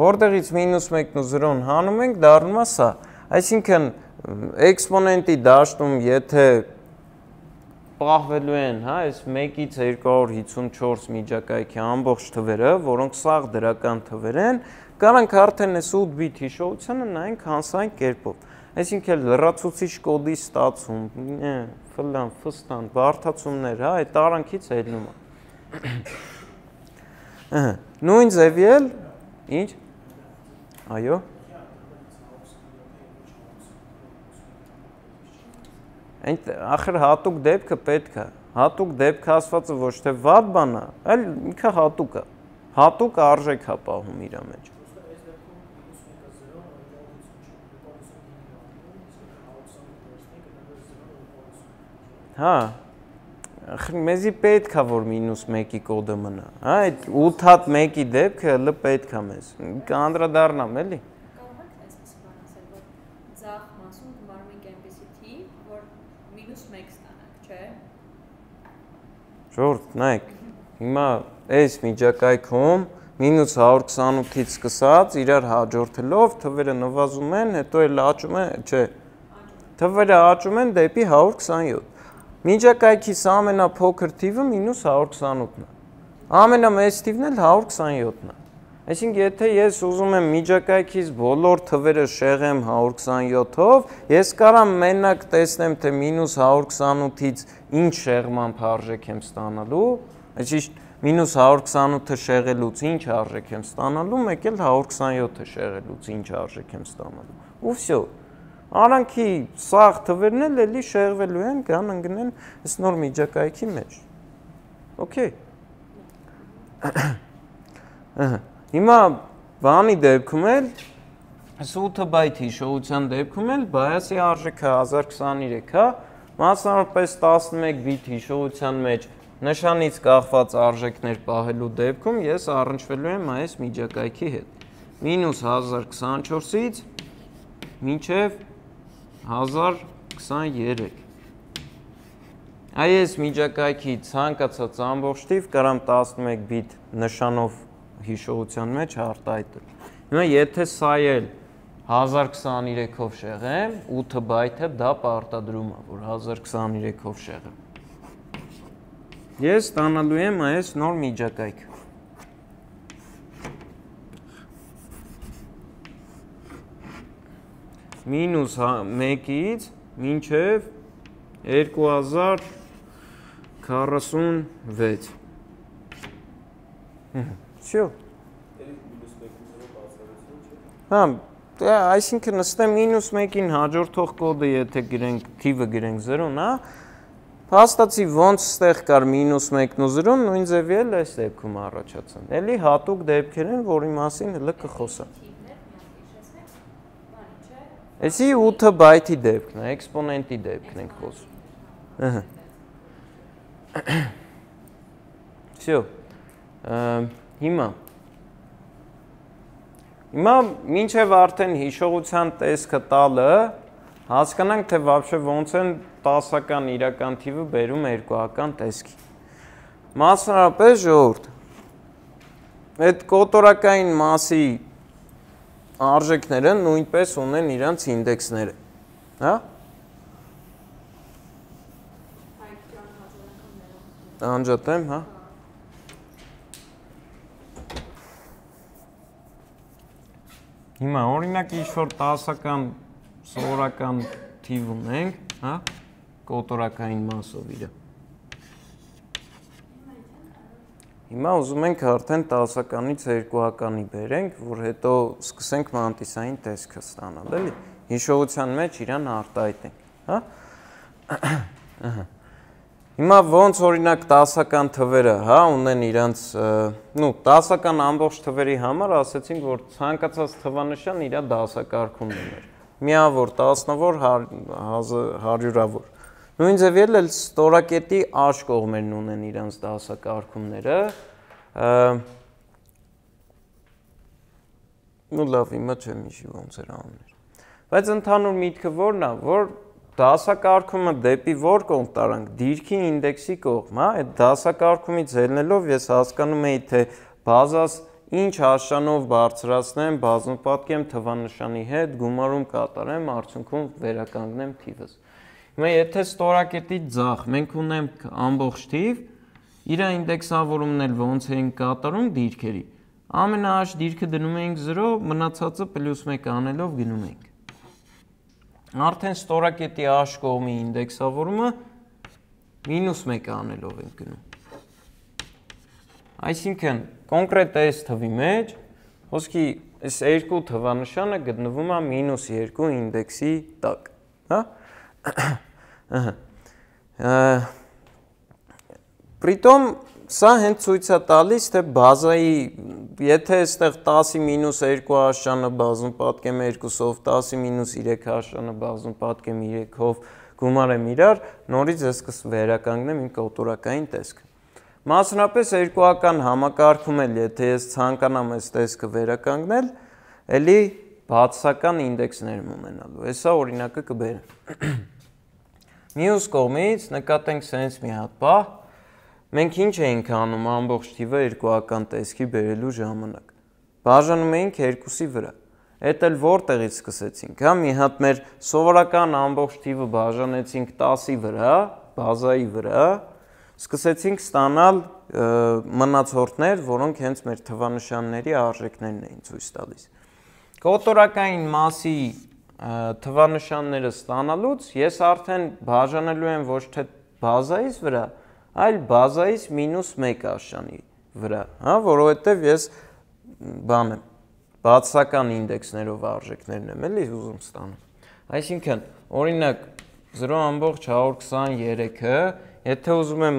Որտեղից -1-ն ու 0-ն հանում ենք, դառնում է սա։ Այսինքն էքսպոնենտի դաշտում եթե պահվելու են, հա, այս 1-ից 254 միջակայքի ամբողջ թվերը, որոնք սաղ դրական թվեր են, կարանք արդեն այս 8 բիթ հիշողությանը նայենք հանսային կերպով։ Այսինքն լրացուցիչ կոդի ստացում, ֆլան, ֆստան, բարդացումներ, հա, այդ տարանքից ելնում է։ Նույն ձևի էլ, ինչ։ Այո։ Ախր հատուկ դեպքը պետք է։ Հատուկ դեպքը ասվածը ոչ թե վատ բան է, այլ ինքը հատուկ է։ Հատուկ արժեք է պահում իր մեջ։ Հա, մեզի պետք է, որ -1-ի կոդը մնա, հա, այդ 8 հատ 1-ի դեպքը հլը պետք է մեզ, կանդրադառնամ էլի։ Կարող եք այսպես բան ասել, որ ձախ մասում գումարում ենք այնպեսի թիվ, որ -1 ստանանք, չէ։ Ժորդ, նայեք, հիմա այս միջակայքում -128-ից սկսած իրար հաջորդելով թվերը նվազում են, հետո էլ աճում են, չէ, թվերը աճում են դեպի 127։ Միջակայքիս ամենափոքր թիվը -128-ն է։ Ամենամեծ թիվն էլ 127-ն է։ Այսինքն եթե ես ուզում եմ միջակայքիս բոլոր թվերը շեղեմ 127-ով, ես կարամ մենակ տեսնեմ, թե -128-ից ինչ շեղմամբ արժեք եմ ստանալու, այսինքն -128-ը շեղելուց ինչ արժեք եմ ստանալու, մեկ էլ 127-ը շեղելուց ինչ արժեք եմ ստանալու։ Ու վсё։ Արանքի սաղ թվերն էլ էլի շեղվելու են, կան ընկնեն այս նոր միջակայքի մեջ։ Okay։ Հիմա բանի դեպքում էլ, այս 8 բայթ հիշողության դեպքում էլ բայասի արժեքը 1023, հա, մասնավորապես 11 բիթ հիշողության մեջ նշանից կախված արժեքներ պահելու դեպքում ես առնչվելու եմ այս միջակայքի հետ։ -1024-ից մինչև 1023։ այս միջակայքի ցանկացած ամբողջ թիվ կարամ 11 բիտ նշանով հիշողության մեջ արտահայտել։ Հիմա եթե սա էլ 1023-ով շեղեմ, 8 բայթը դա պարտադրում է, որ 1023-ով շեղեմ։ Ես ստանալու եմ այս նոր միջակայքը։ Մինուս 1-ից մինչև 2046։ Всё։ Հա, այսինքն նստեմ -1-ին հաջորդող կոդը եթե գրենք, թիվը գրենք 0-ն, հա, փաստացի ոնց ստեղ կար -1-ն ու 0-ն, նույն ձևի էլ այս դեպքում առաջացան։ Էլի հատուկ դեպքեր են, որի մասին հələ կխոսեմ։ Էսի 8 բայթի դեպքն է, էքսպոնենտի դեպքն ենք խոսում։ Ահա։ Всё։ Հիմա մինչև արդեն հիշողության տեսքը տալը հասկանանք, թե вообще ոնց են 10-ական իրական թիվը բերում 2-ական տեսքի։ Մասնավորապես ժողովուրդ, այդ կոտորակային մասի արժեքները նույնպես ունեն իրանց ինդեքսները, հա? Անջատեմ, հա? Հիմա օրինակ ինչ-որ 10-ական, սովորական թիվ ունենք, հա? Կոտորակային մասով իրը։ Հիմա ուզում ենք արդեն 10-ականից 2-ականի բերենք, որ հետո սկսենք մանտիսային տեսքը ստանալ, էլի։ Հիշողության մեջ իրան արտահայտենք, հա? Հիմա ոնց օրինակ 10-ական թվերը, հա, ունեն իրանց, 10-ական ամբողջ թվերի համար ասեցինք, որ ցանկացած թվանշան իր դասակարգումն ուներ։ Միավոր, տասնավոր, հարյուրավոր։ Նույն ձևի էլ ստորակետի աշ կողմերն ունեն իրանց դասակարգումները։ Լավ, հիմա չեմ հիշի ոնց էր անուններ։ Բայց ընդհանուր միտքը որն է, որ դասակարգումը դեպի որ կողմ տարանք, դիրքի ինդեքսի կողմ, հա, այդ դասակարգումից ելնելով ես հասկանում էի, թե բազաս ինչ հաշանով բարձրացնեմ, բազմապատկեմ թվանշանի հետ, գումարում կատարեմ, արդյունքում վերականգնեմ թիվս։ Հիմա եթե ստորակետից ձախ մենք ունենք ամբողջ թիվ, իր ինդեքսավորումն էլ ոնց ենք կատարում դիրքերի։ Ամենահաշ դիրքը դնում ենք 0, մնացածը +1 անելով գնում ենք։ Արդեն ստորակետի աշ կողմի ինդեքսավորումը -1 անելով ենք գնում։ Այսինքն կոնկրետ այս թվի մեջ ոսկի այս երկու թվանշանը գտնվում է -2 ինդեքսի տակ, հա? Պրիտոմ սա հենց ցույց է տալիս, թե բազայի, եթե այստեղ 10-ի -2 աշանը բազում պատկեմ 2-ով, 10-ի -3 աշանը բազում պատկեմ 3-ով, գումարեմ իրար, նորից ես կվերականգնեմ իմ կոտորակային տեսքը։ Մասնապես 2-ական համակարգում էլ, եթե ես ցանկանամ այս տեսքը վերականգնել, էլի բացասական ինդեքսներ եմ ունենալու։ Հեսա օրինակը կբերեմ։ Մյուս կողմից նկատենք սենց մի հատ բան, մենք ինչ էինք անում ամբողջ թիվը 2-ական տեսքի բերելու ժամանակ։ Բաժանում էինք 2-ի վրա։ Էդ էլ որտեղից սկսեցինք, հա, մի հատ մեր սովորական ամբողջ թիվը բաժանեցինք 10-ի վրա, բազայի վրա, սկսեցինք ստանալ մնացորդներ, որոնք հենց մեր թվանշանների արժեքներն էին ցույց տալիս։ Կոտորակային մասի թվանշանները ստանալուց ես արդեն բաժանելու եմ ոչ թե բազայից վրա, այլ բազայից -1 աշանի վրա, հա, որովհետև ես բան եմ, բացասական ինդեքսներով արժեքներն եմ էլի ուզում ստանալ։ Այսինքն, օրինակ 0.123-ը, եթե ուզում եմ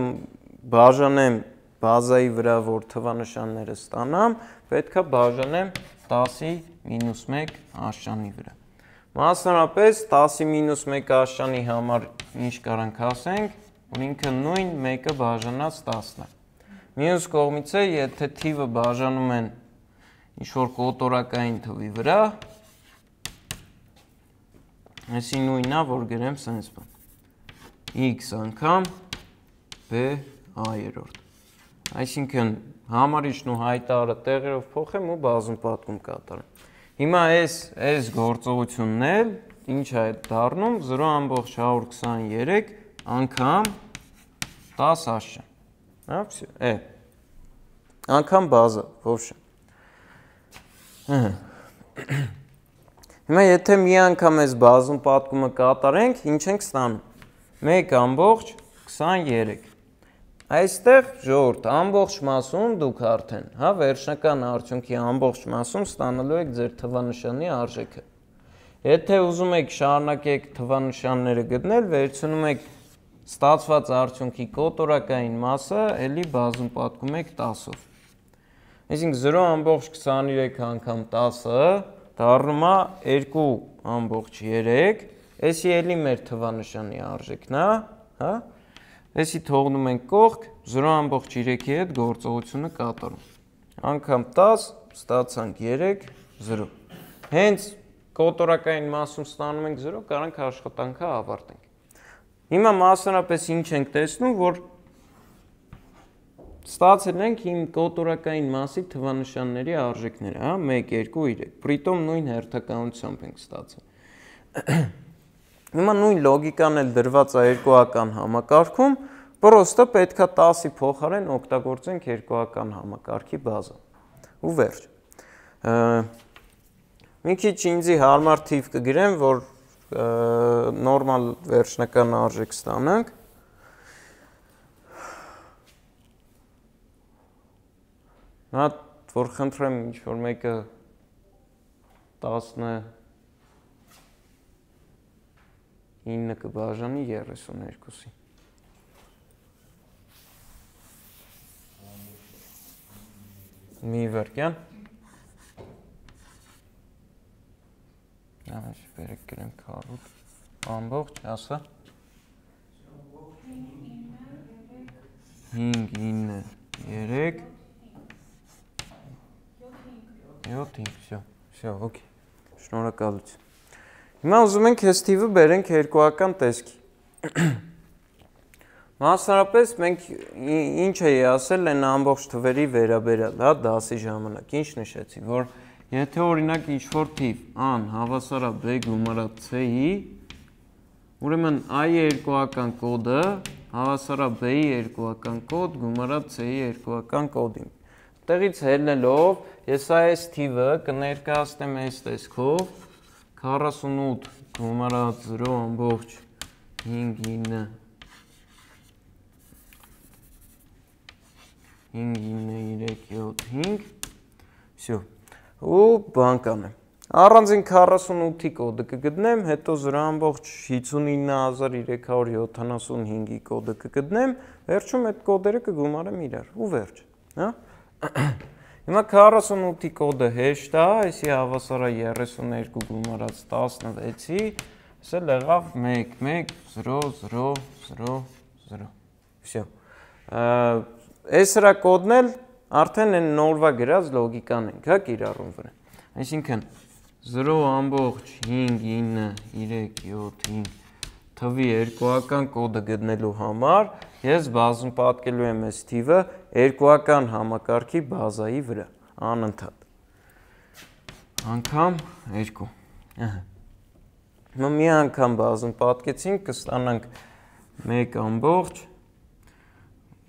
բաժանեմ բազայի վրա, որ թվանշանները ստանամ, պետք է բաժանեմ 10-ի -1 աշանի վրա։ Մասնավորապես 10-ի -1 աշանի համար ինչ կարանք ասենք, որ ինքը նույն 1-ը բաժանած 10-ն է։ Մյուս կողմից է, եթե թիվը բաժանում են ինչ-որ կոտորակային թվի վրա, այսի նույնն է, որ գրեմ սենց բան։ X անգամ B a-երորդ։ Այսինքն համարիչն ու հայտարարը տեղերով փոխեմ ու բազում պատկում կատարեմ։ Հիմա այս գործողությունն էլ ինչ է դառնում 0.123 անգամ 10 աշճան։ Հա, всё, անգամ բազա, ոբշե։ Հիմա եթե մի անգամ այս բազում պատկումը կատարենք, ինչ ենք ստանում։ 1.23։ Այստեղ ժողովուրդ ամբողջ մասում դուք արդեն, հա, վերջնական արդյունքի ամբողջ մասում ստանալու եք ձեր թվանշանի արժեքը։ Եթե ուզում եք շարունակեք թվանշանները գտնել, վերցնում եք ստացված արդյունքի կոտորակային մասը, էլի բազում պատկում եք 10-ով։ Այսինքն 0.23 անգամ 10-ը դառնում է 2.3, էսի էլի մեր թվանշանի արժեքն է, հա։ Էսի թողնում ենք կողք 0.3-ի հետ գործողությունը կատարում։ Անգամ 10 ստացանք 3 0։ Հենց կոտորակային մասում ստանում ենք 0, կարանք աշխատանքը ավարտենք։ Հիմա մասնարապես ինչ ենք տեսնում, որ ստացել ենք իմ կոտորակային մասի թվանշանների արժեքները, հա, 1 2 3, պրիտոմ նույն հերթականությամբ ենք ստացել։ Հիմա նույն լոգիկան էլ դրված է երկուական համակարգում, պրոստը պետքա 10-ի փոխարեն օգտագործենք երկուական համակարգի բազա։ Ու վերջ։ Մի քիչ ինձի հարմար թիվ կգրեմ, որ նորմալ վերջնական արժեք ստանանք։ Նա որ խնդրեմ ինչ-որ մեկը 19 կբաժանի 32-ի։ Մի վարկյան։ Այս վերեք գրեմ քառուտ ամբողջ, ասա։ 5 9 3 7 5, всё, օքեյ։ Շնորհակալություն։ Հիմա ուզում ենք այս թիվը բերենք երկուական տեսքի։ Մասնարապես մենք ինչ էի ասել այն ամբողջ թվերի վերաբերյալ, հա, դասի ժամանակ, ինչ նշեցի, որ եթե օրինակ ինչ-որ թիվ a-ն հավասար է b գումարած c-ի, ուրեմն a-ի երկուական կոդը հավասար է b-ի երկուական կոդ գումարած c-ի երկուական կոդին։ Տեղից ելնելով ես այս թիվը կներկայացնեմ այս տեսքով 48 գումարած 0.5 9 5 всё ու բան կանեմ առանձին 48-ի կոդը կգտնեմ, հետո 0.59375-ի կոդը կգտնեմ, վերջում այդ կոդերը կգումարեմ իրար ու վերջ, հա։ Հիմա 48-ի կոդը հեշտ է, այսի հավասար է 32 գումարած 16-ի, այս էլ եղավ 1 1 0 0 0 0, всё։ Այս հրա կոդն էլ արդեն այն նորվա գրած լոգիկան ենք, հա, կիրառում վրա։ Այսինքն 0.59375 թվի երկուական կոդը գտնելու համար ես բազում պատկելու եմ այս թիվը երկուական համակարգի բազայի վրա, անընդհատ։ Անգամ 2։ Հիմա մի անգամ բազում պատկեցինք, կստանանք 1.8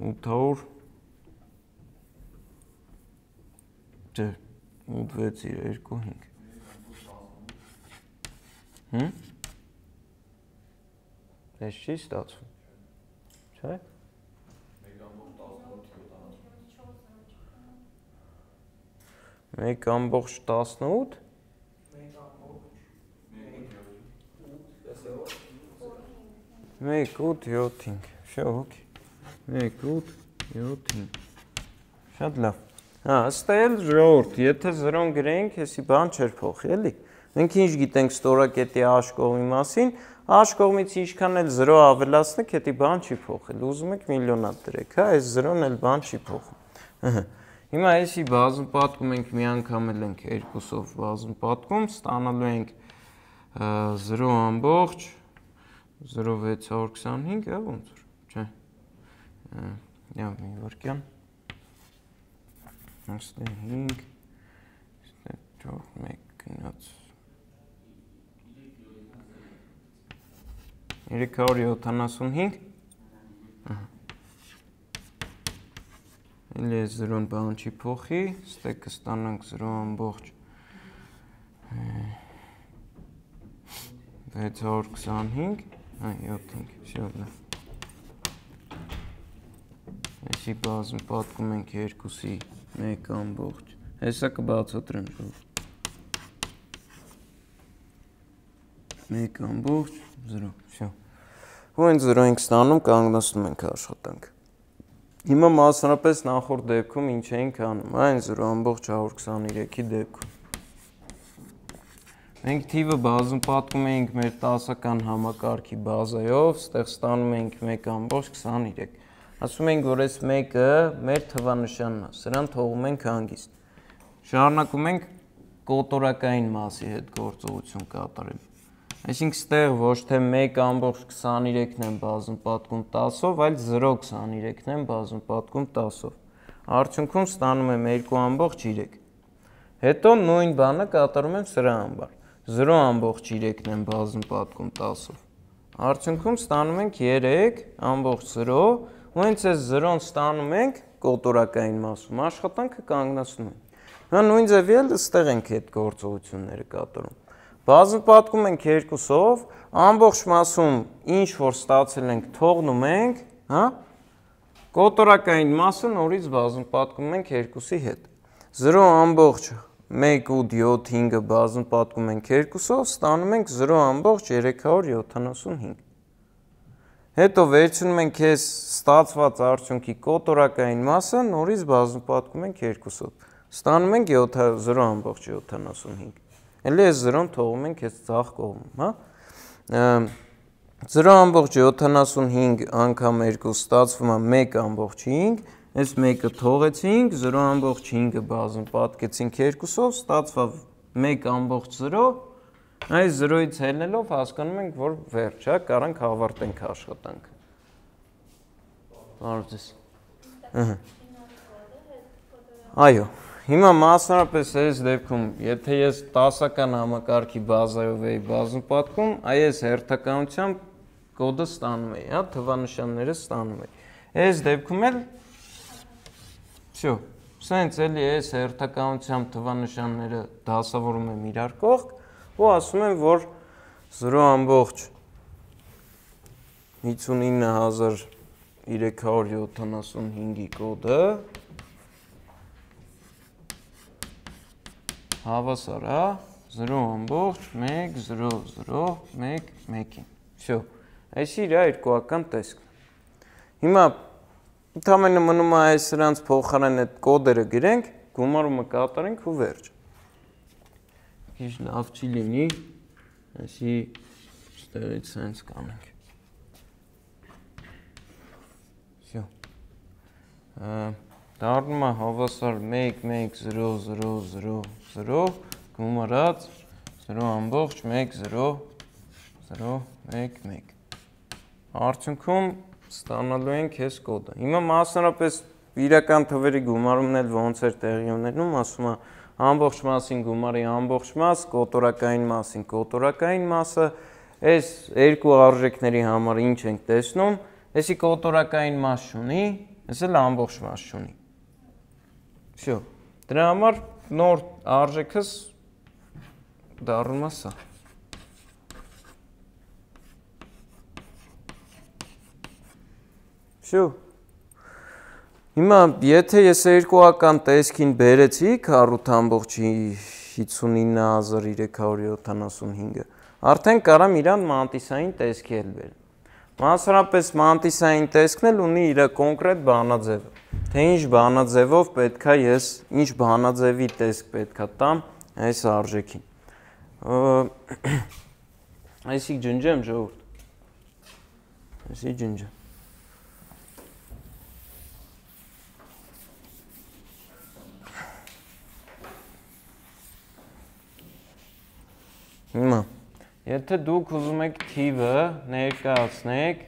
8 6 2 5։ Այս չի ստացվում, չէ՞։ 1.18 1 8 7 всё, օքեյ։ 1 8 7 Շատ լավ։ Հա, ըստ էլ ժողովուրդ, եթե 0-ն գրենք, հեսի բան չէր փոխի, էլի։ Մենք ինչ գիտենք ստորակետի H կողմի մասին, H կողմից ինչքան էլ 0 ավելացնեք, հետի բան չի փոխել։ Ուզում եք միլիոնատ դրեք, հա, այս 0-ն էլ բան չի փոխում։ Հիմա այսի բազում պատկում ենք մի անգամ էլ ենք 2-ով բազում պատկում, ստանալու ենք 0.0625, հա, ոնց որ, չէ։ մի վարկյան, այստեղ 5, այստեղ 4, 1 գնաց 375, էլի է 0-ն բան չի փոխի, ստեղ կստանանք 0.625, 7-5, շյոտ է։ Այսի բազմ պատկում ենք 2-ի 1 հեսա կբացատրեմ ժող 1 0, շյո ու են 0 ենք ստանում կանգնացնում ենք աշխատանք հիմա մասնապես նախորդ դեպքում ինչ էինք անում այն 0.123-ի դեպքում մենք թիվը բազում պատկում էինք մեր 10-ական համակարգի բազայով ստեղ ստանում էինք 1.23 ասում ենք, որ այս մեկը մեր թվանշանն է, սրան թողում ենք հանգիստ։ Շարունակում ենք կոտորակային մասի հետ գործողություն կատարել։ Այսինքն ստեղ ոչ թե 1.23-ն են բազում պատկում 10-ով, այլ 0.23-ն են բազում պատկում 10-ով։ Արդյունքում ստանում եմ 2.3։ Հետո նույն բանը կատարում եմ սրա համար։ 0.3-ն են բազում պատկում 10-ով։ Արդյունքում ստանում ենք 3.0 ու հենց այս 0-ն ստանում ենք կոտորակային մասում, աշխատանքը կանգնացնում ենք։ Հա նույն ձևի էլ ստեղ ենք այդ գործողությունները կատարում։ Բազում պատկում ենք 2-ով, ամբողջ մասում ինչ որ ստացել ենք թողնում ենք, հա, կոտորակային մասը նորից բազում պատկում ենք 2-ի հետ։ 0.1.7-5-ը բազում պատկում ենք 2-ով, ստանում ենք 0.375։ Հետո վերցնում ենք այս ստացված արդյունքի կոտորակային մասը, նորից բազում պատկում ենք 2-ով։ Ստանում ենք 0.75։ Էլի այս 0-ն թողում ենք այս ձախ կողմում, հա։ 0.75 անգամ 2 ստացվում է 1.5, այս 1-ը թողեցինք, 0.5-ը բազում պատկեցինք 2-ով, ստացվավ 1.0, այս 0-ից ելնելով հասկանում ենք, որ վերջ, հա, կարանք ավարտենք աշխատանքը։ Բարոյցես։ Այո, հիմա մասնարապես այս դեպքում, եթե ես 10-ական համակարգի բազայով էի բազում պատկում, այս հերթականությամբ կոդը ստանում էի, հա, թվանշանները ստանում էի։ Այս դեպքում էլ, всё, սենց էլի այս հերթականությամբ թվանշանները դասավորում եմ իրար կողք ու ասում եմ, որ 0.59375-ի կոդը հավասար է 0.100111-ին։ Всё, այս իր երկուական տեսքն։ Հիմա ընդհանրապես մնում է այս սրանց փոխարեն այդ կոդերը գրենք, գումարումը կատարենք ու վերջ։ Ինչ լավ չի լինի, այսի ստերից սենց կանենք։ Всё։ Դառնում է հավասար 1.1000 գումարած 0.100111։ Արդյունքում ստանալու ենք այս կոդը։ Հիմա մասնարապես իրական թվերի գումարումն էլ ոնց էր տեղի ունենում, ասում է ամբողջ մասին գումարի ամբողջ մաս, կոտորակային մասին կոտորակային մասը, այս երկու արժեքների համար ինչ ենք տեսնում, այսի կոտորակային մաս չունի, այս էլ ամբողջ մաս չունի։ Всё, դրա համար նոր արժեքս դառնում է սա։ Всё։ Հիմա եթե ես երկուական տեսքին բերեցի 48.59375-ը, արդեն կարամ իրան մանտիսային տեսքի էլ բերեմ։ Մասնարապես մանտիսային տեսքն էլ ունի իր կոնկրետ բանաձևը։ Թե ինչ բանաձևով պետքա ես, ինչ բանաձևի տեսք պետքա տամ այս արժեքին։ Այսի ջնջեմ ժողովուրդ։ Այսի ջնջեմ։ Հիմա, եթե դուք ուզում եք թիվը ներկայացնեք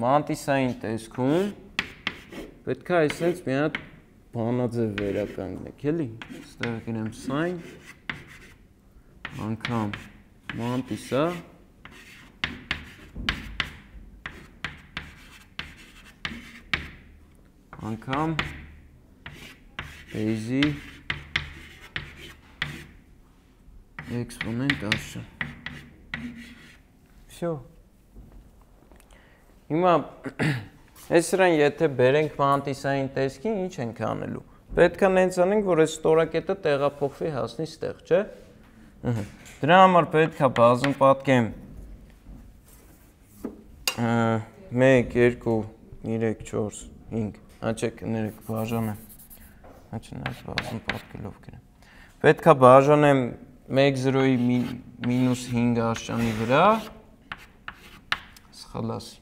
մանտիսային տեսքում, պետք է այսպես մի հատ բանաձև վերականգնեք, էլի։ Այստեղ գրեմ sin անգամ մանտիսա անգամ base-ի էքսպոնենտ աշը։ Всё։ Հիմա այս սրան եթե բերենք մանտիսային տեսքին, ինչ ենք անելու։ Պետք է նենց անենք, որ այս ստորակետը տեղափոխվի հասնի ստեղ, չէ՞։ Դրա համար պետք է բազում պատկեմ 1, 2, 3, 4, 5, աչեք ներեք բաժանեմ, աչնայց բազում պատկելով գրեմ։ Պետք է բաժանեմ 1, 0-ի մինուս 5 աշճանի վրա, սխալ ասի։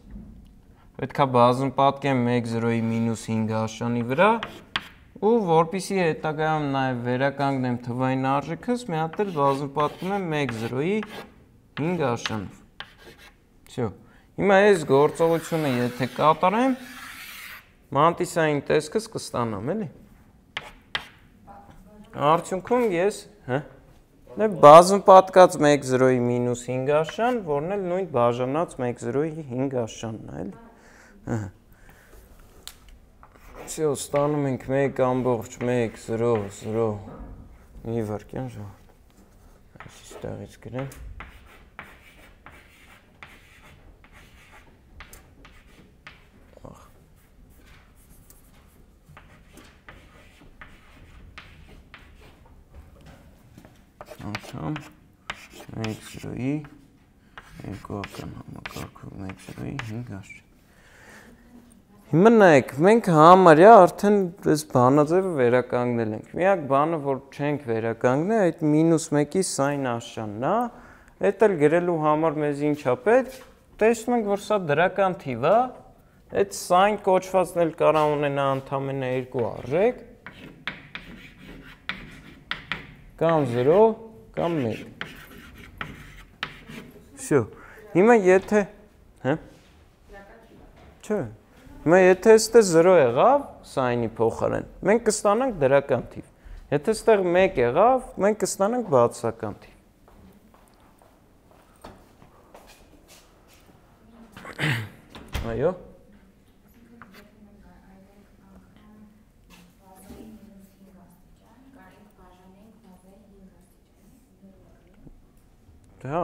Պետք է բազում պատկեմ 1, 0-ի մինուս 5 աշճանի վրա, ու որպեսզի հետագայում նաև վերականգնեմ թվային արժեքս, մի հատ էլ բազում պատկում եմ 1, 0-ի 5 աշճանով։ Всё։ Հիմա այս գործողությունը եթե կատարեմ, մանտիսային տեսքս կստանամ, էլի։ Արդյունքում ես, բազում պատկած 1, 0-ի մինուս 5 աշճան, որն էլ նույն բաժանած 1, 0-ի 5 աշճանն է, էլի։ Всё, ստանում ենք 1.1, 0, 0, մի վարկյան ժողովուրդ, այս ստեղից գրեմ, անգամ 1, 0-ի, երկուական համակարգում 1, 0-ի 5 աշճան։ Հիմա նայեք, մենք համարյա արդեն այս բանաձևը վերականգնել ենք։ Միակ բանը, որ չենք վերականգնել, այդ -1-ի սայն աշճանն է, այդ էլ գրելու համար մեզ ինչ է պետք, տեսնում ենք, որ սա դրական թիվ է, այդ սայն կոչվածն էլ կարող ունենա ընդամենը երկու արժեք, կամ 0, կամ 1։ Всё։ Հիմա եթե, չէ։ Հիմա եթե այստեղ 0 եղավ, սայնի փոխարեն, մենք կստանանք դրական թիվ։ Եթե այստեղ 1 եղավ, մենք կստանանք բացասական թիվ։ Այո։ Դա,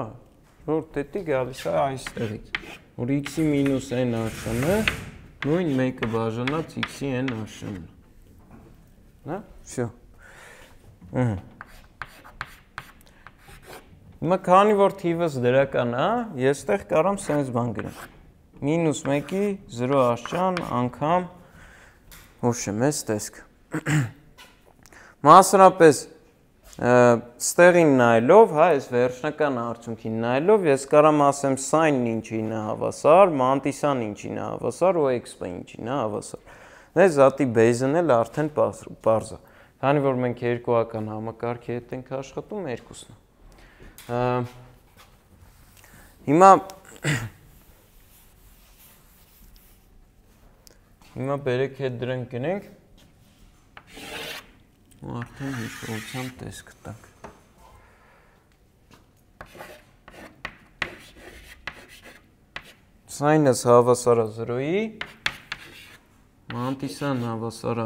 որ դետի գալիս է այստեղից, որ x-ի մինուս n աշճանը նույն մեկը բաժանած x-ի n աշճանն է։ Всё։ Հիմա քանի որ թիվս դրական է, ես այդտեղ կարամ սենց բան գրեմ։ -1-ի 0 աշճան անգամ հուշեմ այս տեսքը։ Մասնապես ստեղին նայելով, այս վերջնական արդյունքին նայելով, ես կարամ ասեմ սայնն ինչին է հավասար, մանտիսան ինչին է հավասար ու էքսպը ինչին է հավասար։ Այս զատի բեյզն էլ արդեն պարզ է։ Քանի որ մենք երկուական համակարգի հետ ենք աշխատում, երկուսն է։ Հիմա բերեք հետ դրանք գնենք ու արդեն հիշողության տեսք տանք։ Սայնս հավասար է 0-ի, մանտիսան հավասար է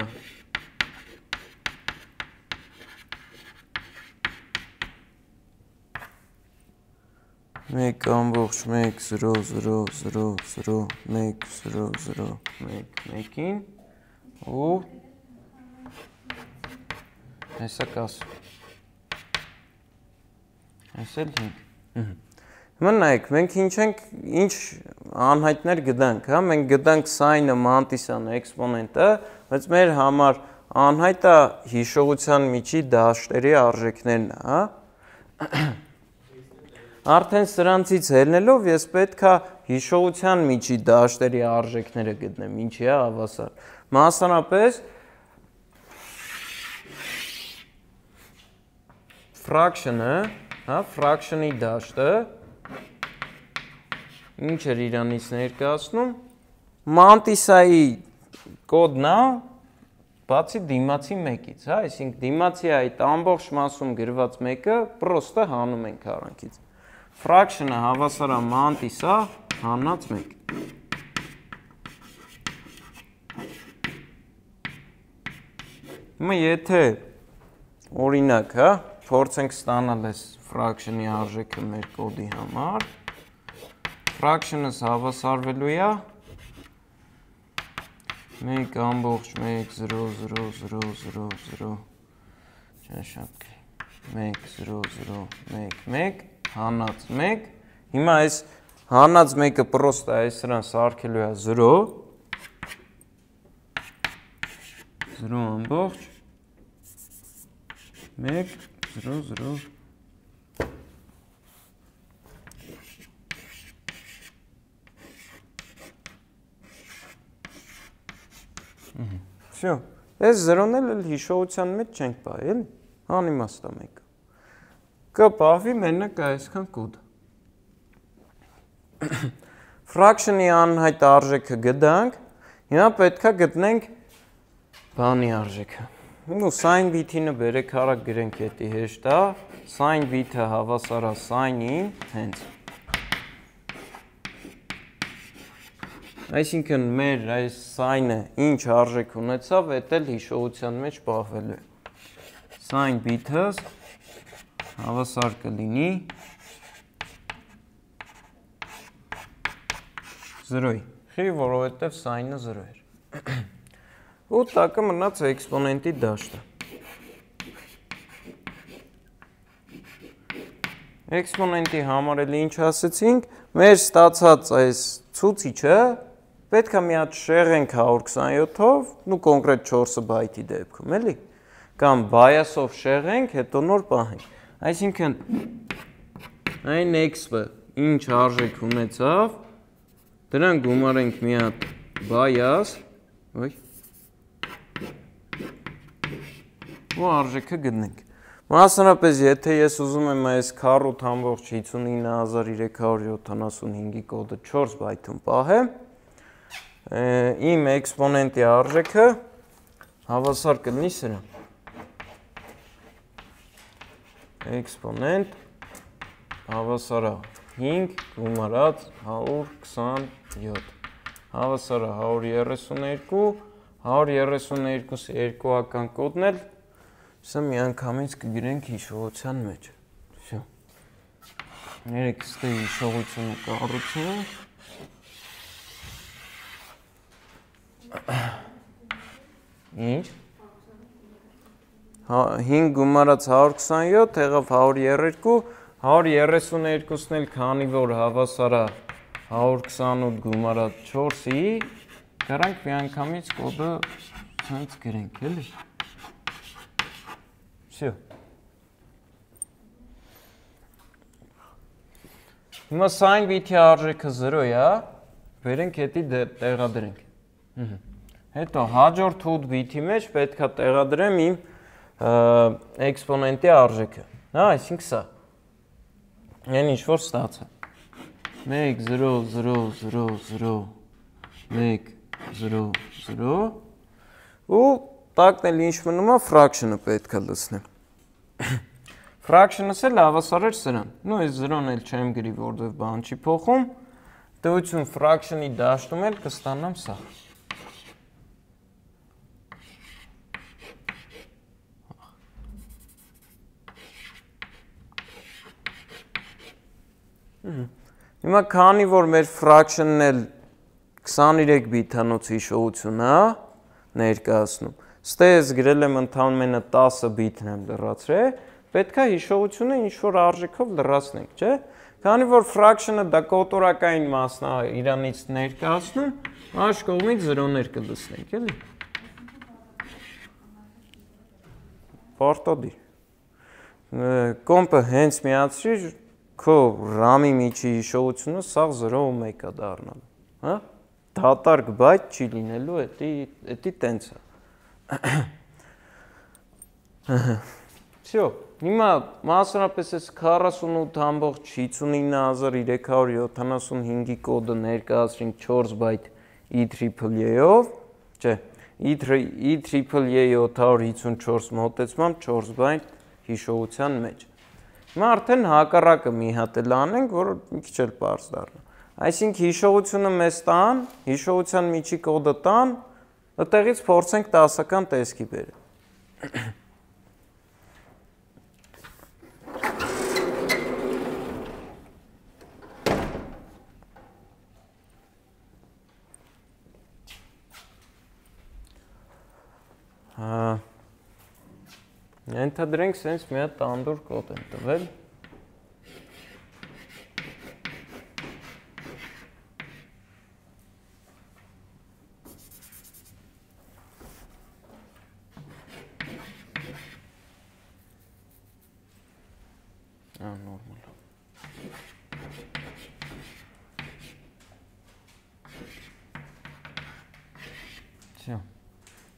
1.1, 0, 0, 0, 0, 1, 0, 0, 1, 1-ին ու հեսա կասում։ Այս էլ 5։ Հիմա նայեք, մենք ինչ անհայտներ գտանք, մենք գտանք սայնը, մանտիսանը, էքսպոնենտը, բայց մեր համար անհայտը հիշողության միջի դաշտերի արժեքներն է, Արդեն սրանցից ելնելով ես պետք է հիշողության միջի դաշտերի արժեքները գտնեմ, ինչի է հավասար։ Մասնապես ֆրակշնը, ֆրակշնի դաշտը ինչ էր իրանից ներկայացնում, մանտիսայի կոդն է բացի դիմացի մեկից, հա, այսինքն դիմացի այդ ամբողջ մասում գրված մեկը պրոստը հանում ենք արանքից։ Fraction-ը հավասար է մանտիսա հանած 1։ Հիմա եթե օրինակ, հա, փորձենք ստանալ այս fraction-ի արժեքը մեր կոդի համար, fraction-ը հավասարվելու է 1.10000 չնշանակի 1.0.0.1 հանած 1 հիմա այս հանած 1-ը պրոստը այս սրան սարքելու է 0 ամբողջ 1.0.0 Всё, այս զրոն էլ հիշողության մեջ չենք պահի, էլի, անիմաստ է մեկը։ Կպահվի մենակ այսքան կոդը։ Fraction-ի անհայտ արժեքը գտանք, հիմա պետք է գտնենք բանի արժեքը։ Ու sin bit-ինը բերեք արագ գրենք էդի հեշտ է, sin bit-ը հավասար է sin-ին, հենց։ Այսինքն մեր այս sin-ը ինչ արժեք ունեցավ, էդ էլ հիշողության մեջ պահվելու է։ Sin bit-ը հավասար կլինի 0-ի, որովհետև sin-ը 0 էր։ Ու տակը մնաց էքսպոնենտի դաշտը։ Էքսպոնենտի համար էլ ինչ ասեցինք, մեր ստացած այս ցուցիչը պետք է մի հատ շեղենք 127-ով, ու կոնկրետ 4 բայթի դեպքում, էլի, կամ bias-ով շեղենք, հետո նոր պահենք։ Այսինքն այն x-ը ինչ արժեք ունեցավ, դրան գումարենք մի հատ bias, ու արժեքը գտնենք։ Մասնապես, եթե ես ուզում եմ այս 4.59375-ի կոդը 4 բայթում պահեմ, իմ էքսպոնենտի արժեքը հավասար կլինի սրան։ Էքսպոնենտ հավասար է 5 գումարած 127, հավասար է 132, 132-ի երկուական կոդն էլ սա միանգամից կգրենք հիշողության մեջ։ Всё։ Երեք ստե հիշողությունը կառուցենք։ Ինչ։ 5 գումարած 127 եղավ 132, 132-ն էլ քանի որ հավասար է 128 գումարած 4-ի, գրանք միանգամից կոդը ցած գրենք, էլի։ Всё։ Հիմա sin bit-ի արժեքը 0 է, բերենք հետի տեղադրենք։ Հետո հաջորդ 8 bit-ի մեջ պետք է տեղադրեմ իմ էքսպոնենտի արժեքը։ Հա, այսինքն սա։ Այն ինչ որ ստացա։ 1 0 0 0 0 1 0 0 ու տակն էլ ինչ մնում է, fraction-ը պետք է լցնեմ։ Fraction-ս էլ հավասար էր սրան։ Նու այս 0-ն էլ չեմ գրի, որովհետև բան չի փոխում։ Դեպություն fraction-ի դաշտում էլ կստանամ սա։ Հիմա քանի որ մեր fraction-ն էլ 23 բիթանոց հիշողություն է ներկայացնում, ստե ես գրել եմ ընդամենը 10 բիթն եմ լրացրել, պետք է հիշողությունը ինչ-որ արժեքով լրացնենք, չէ՞։ Քանի որ fraction-ը դա կոտորակային մասն է իրանից ներկայացնում, այս կողմից 0-ներ կլցնենք, էլի։ Պարտադիր։ Կոմպը հենց միացրի, քո RAM-ի միջի հիշողությունը սաղ 0 ու 1 է դառնալու, հա։ Դատարկ բայթ չի լինելու, էդի տենց է։ Всё, հիմա մասնապես այս 48.59375-ի կոդը ներկայացրինք 4 բայթ EEEE-ով, Չէ, IEEE 754 մոտեցմամբ 4 բայտ հիշողության մեջ։ Հիմա արդեն հակառակը մի հատ էլ անենք, որ մի քիչ էլ պարզ դառնա։ Այսինքն հիշողությունը մեզ տան, հիշողության միջի կոդը տան, այդտեղից փորձենք 10-ական տեսքի բերել։ Ենթադրենք սենց մի հատ տանդուր կոդ են տվել։ Նորմալ։ Всё։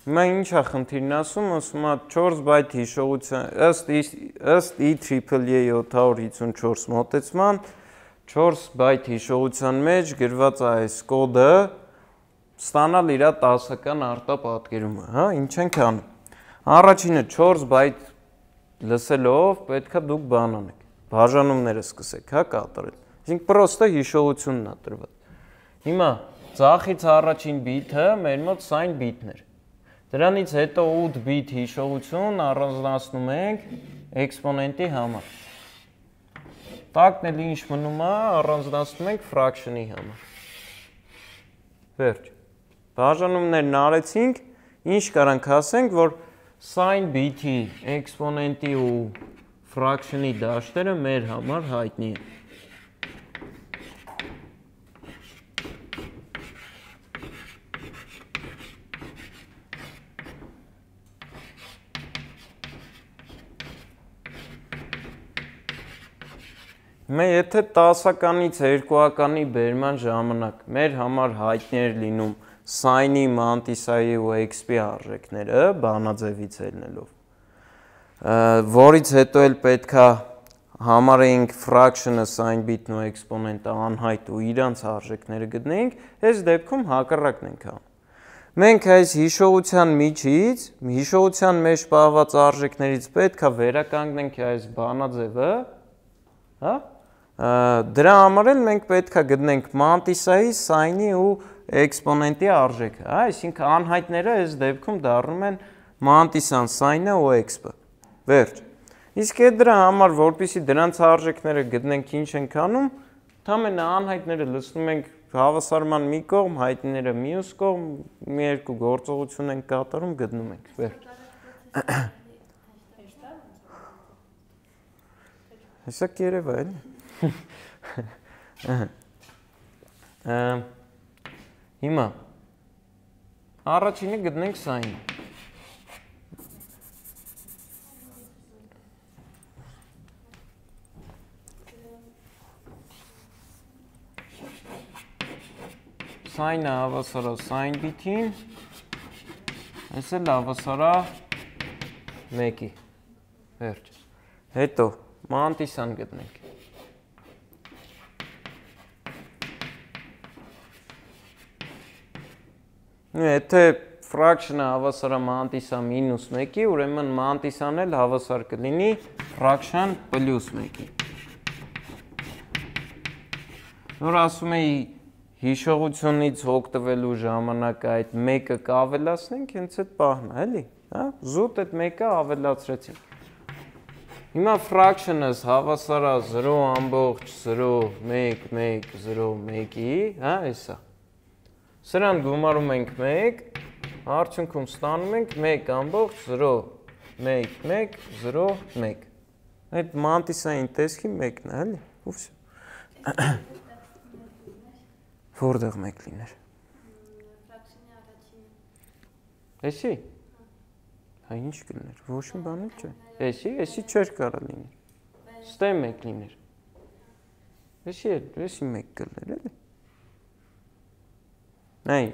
Հիմա ինչ է խնդիրն ասում, ասում է 4 բայտ հիշողության, ըստ IEEE 754 մոտեցման 4 բայտ հիշողության մեջ գրված է այս կոդը ստանալ իր 10-ական արտապատկերումը, հա, ինչ ենք անում։ Առաջինը 4 байт լսելով պետքա դուք բան անեք, բաժանումները սկսեք, հա, կատարել։ Այսինքն պրոստը հիշողությունն է տրված։ Հիմա ձախից առաջին բիթը մեր մոտ сайн բիթն էր։ Դրանից հետո 8 բիթ հիշողություն առանձնացնում ենք էքսպոնենտի համար։ Տակն էլ ինչ մնում է, առանձնացնում ենք ֆրակշնի համար։ Վերջ։ Բաժանումներն արեցինք, ինչ կարանք ասենք, որ сайн բիթի էքսպոնենտի ու ֆրակշնի դաշտերը մեր համար հայտնի են։ Մենք եթե 10-ականից 2-ականի բերման ժամանակ մեր համար հայտնի էր լինում սայնի, մանտիսայի ու XP արժեքները բանաձևից ելնելով, որից հետո էլ պետքա համարեինք ֆրակշնը, сайн բիթն ու էքսպոնենտը անհայտ ու իրանց արժեքները գտնեինք, այս դեպքում հակառակն ենք անում։ Մենք այս հիշողության միջից, հիշողության մեջ պահված արժեքներից պետքա վերականգնենք այս բանաձևը, հա? Դրա համար էլ մենք պետքա գտնենք մանտիսայի, սայնի ու էքսպոնենտի արժեքը, հա, այսինքն անհայտները այս դեպքում դառնում են մանտիսան, սայնը ու XP-ը։ Վերջ։ Իսկ այդ դրա համար, որպեսզի դրանց արժեքները գտնենք, ինչ ենք անում, ընդամենը անհայտները լցնում ենք հավասարման մի կողմ, հայտնիները մյուս կողմ, մի երկու գործողություն ենք կատարում, գտնում ենք։ Վերջ։ Հեսա կերևա էլի։ Հիմա առաջինը գտնենք սայնը։ Սայնը հավասարա սայն բիթին, այս էլ հավասարա 1-ի։ Վերջ։ Հետո մանտիսան գտնենք։ Եթե ֆրակշնը հավասարա մանտիսա մինուս 1-ի, ուրեմն մանտիսան էլ հավասար կլինի ֆրակշն պլյուս 1-ի։ Նոր ասում էի հիշողությունից օգտվելու ժամանակ այդ 1-ը կավելացնենք, հենց այդ պահն է, էլի, հա? Զուտ այդ 1-ը ավելացրեցինք։ Հիմա ֆրակշնս հավասարա 0.011011-ի, հա, էսա։ Սրան գումարում ենք 1, արդյունքում ստանում ենք 1.01101։ Այդ մանտիսային տեսքի 1-ն է, էլի, ու վсё։ Որտեղ 1 լիներ։ Ֆրակշնի առաջինը։ Էսի։ Հա ինչ կլիներ, ոչ մի բան չէ։ Էսի չէր կարա լիներ։ Ստե 1 լիներ։ Էսի 1 կլիներ, էլի։ Նայ,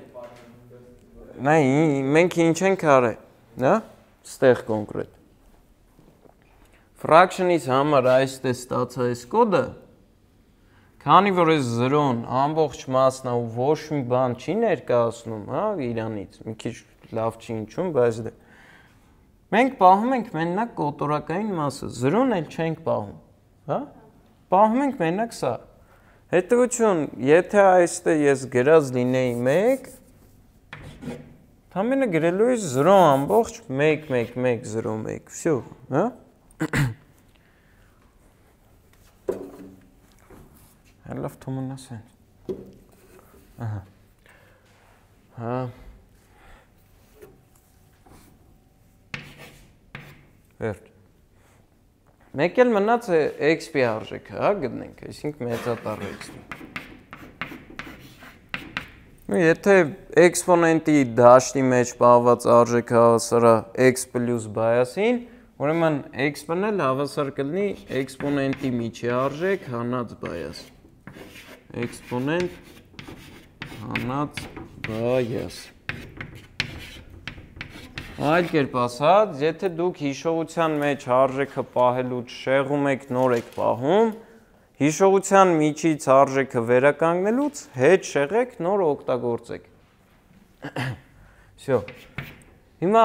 մենք ինչ ենք արել, հա? Ստեղ կոնկրետ։ Ֆրակշնից համար այս տես ստացա այս կոդը, Քանի որ այս 0-ն ամբողջ մասն է ու ոչ մի բան չի ներկայացնում, հա, իրանից, մի քիչ լավ չի ինչում, բայց դե մենք պահում ենք մենակ կոտորակային մասը, 0-ն էլ չենք պահում, հա? Պահում ենք մենակ սա։ Հետևություն, եթե այստեղ ես գրած լինեի 1, ամենը գրելու ես 0 ամբողջ 1 1 1 0 1, всё, հա? Հəլավ թոմնաս են։ Ահա։ Հա։ Վերջ։ Մեկ էլ մնաց է XP արժեքը, հա, գտնենք, այսինքն մեծատառ XP։ Եթե էքսպոնենտի դաշտի մեջ պահված արժեքը հավասար է x պլյուս բայասին, ուրեմն x-ն էլ հավասար կլինի էքսպոնենտի միջի արժեք հանած բայաս։ Էքսպոնենտ հանած բայաս։ Այլ կերպ ասած, եթե դուք հիշողության մեջ արժեքը պահելուց շեղում եք, նոր եք պահում, հիշողության միջից արժեքը վերականգնելուց հետ շեղեք, նոր օգտագործեք։ Всё։ Հիմա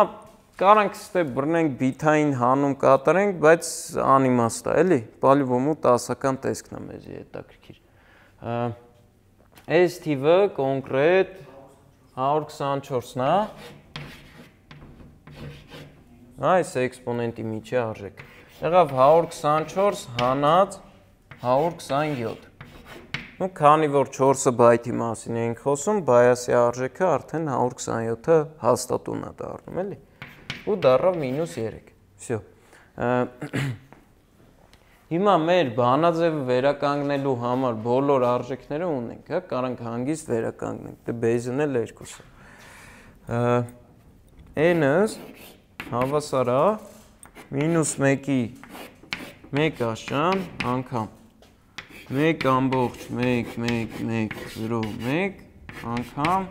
կարանք ստե բռնենք բիթային հանում կատարենք, բայց անիմաստ է, էլի, պալիվոմու 10-ական տեսքն է մեզի հետաքրքիր։ Այս թիվը կոնկրետ 124-ն է։ Այս էքսպոնենտի միջի արժեքը։ Եղավ 124 հանած 127։ Ну, քանի որ 4-ը բայթի մասին ենք խոսում, բայասի արժեքը արդեն 127-ը հաստատուն է դառնում, էլի։ Ու դառավ -3։ Всё։ Հիմա մեր բանաձևը վերականգնելու համար բոլոր արժեքները ունենք, հա, կարանք հանգիստ վերականգնենք։ Դե բեյզն էլ 2-ը։ N-ը հավասար է -1-ի 1 աշան անգամ 1 ամբողջ 1 1 1 0 1 անգամ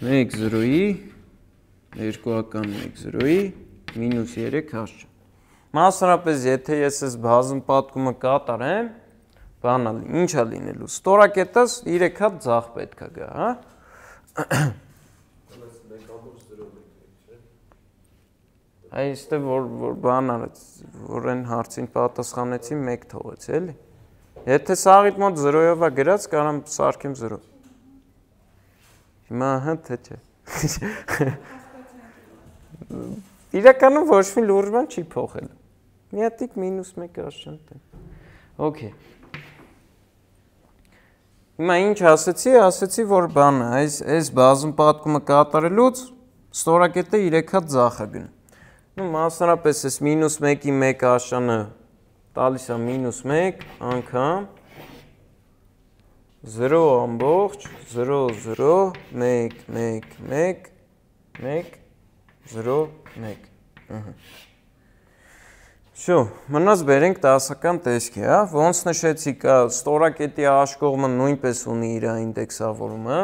1 0-ի 2-ական 1 0-ի -3 աշան։ Մասնարապես եթե ես այս բազում պատկումը կատարեմ, բանալ, ինչ է լինելու։ Ստորակետս 3 հատ ձախ պետք է գա, հա։ Այստեղ որ բան արեց, որ այն հարցին պատասխանեցի 1 թողեց, էլի։ Եթե սաղիդ մոտ 0-ով է գրած, կարամ սարքեմ 0։ Հիմա հա թե չէ։ Իրականում ոչ մի լուրջ բան չի փոխել։ Մի հատիկ -1 աշան տեն։ Okay։ Հիմա ինչ ասեցի, որ բանը, այս բազում պատկումը կատարելուց ստորակետը 3 հատ ձախ է գնում։ Ну, մասնարապես այս -1-ի 1 աշանը տալիս է -1 անգամ 0 ամբողջ 0 0 1 1 1 1 0 1։ Շո, մնաց բերենք 10-ական տեսքի, հա, ոնց նշեցի կա ստորակետի աշկողմը նույնպես ունի իր ինդեքսավորումը,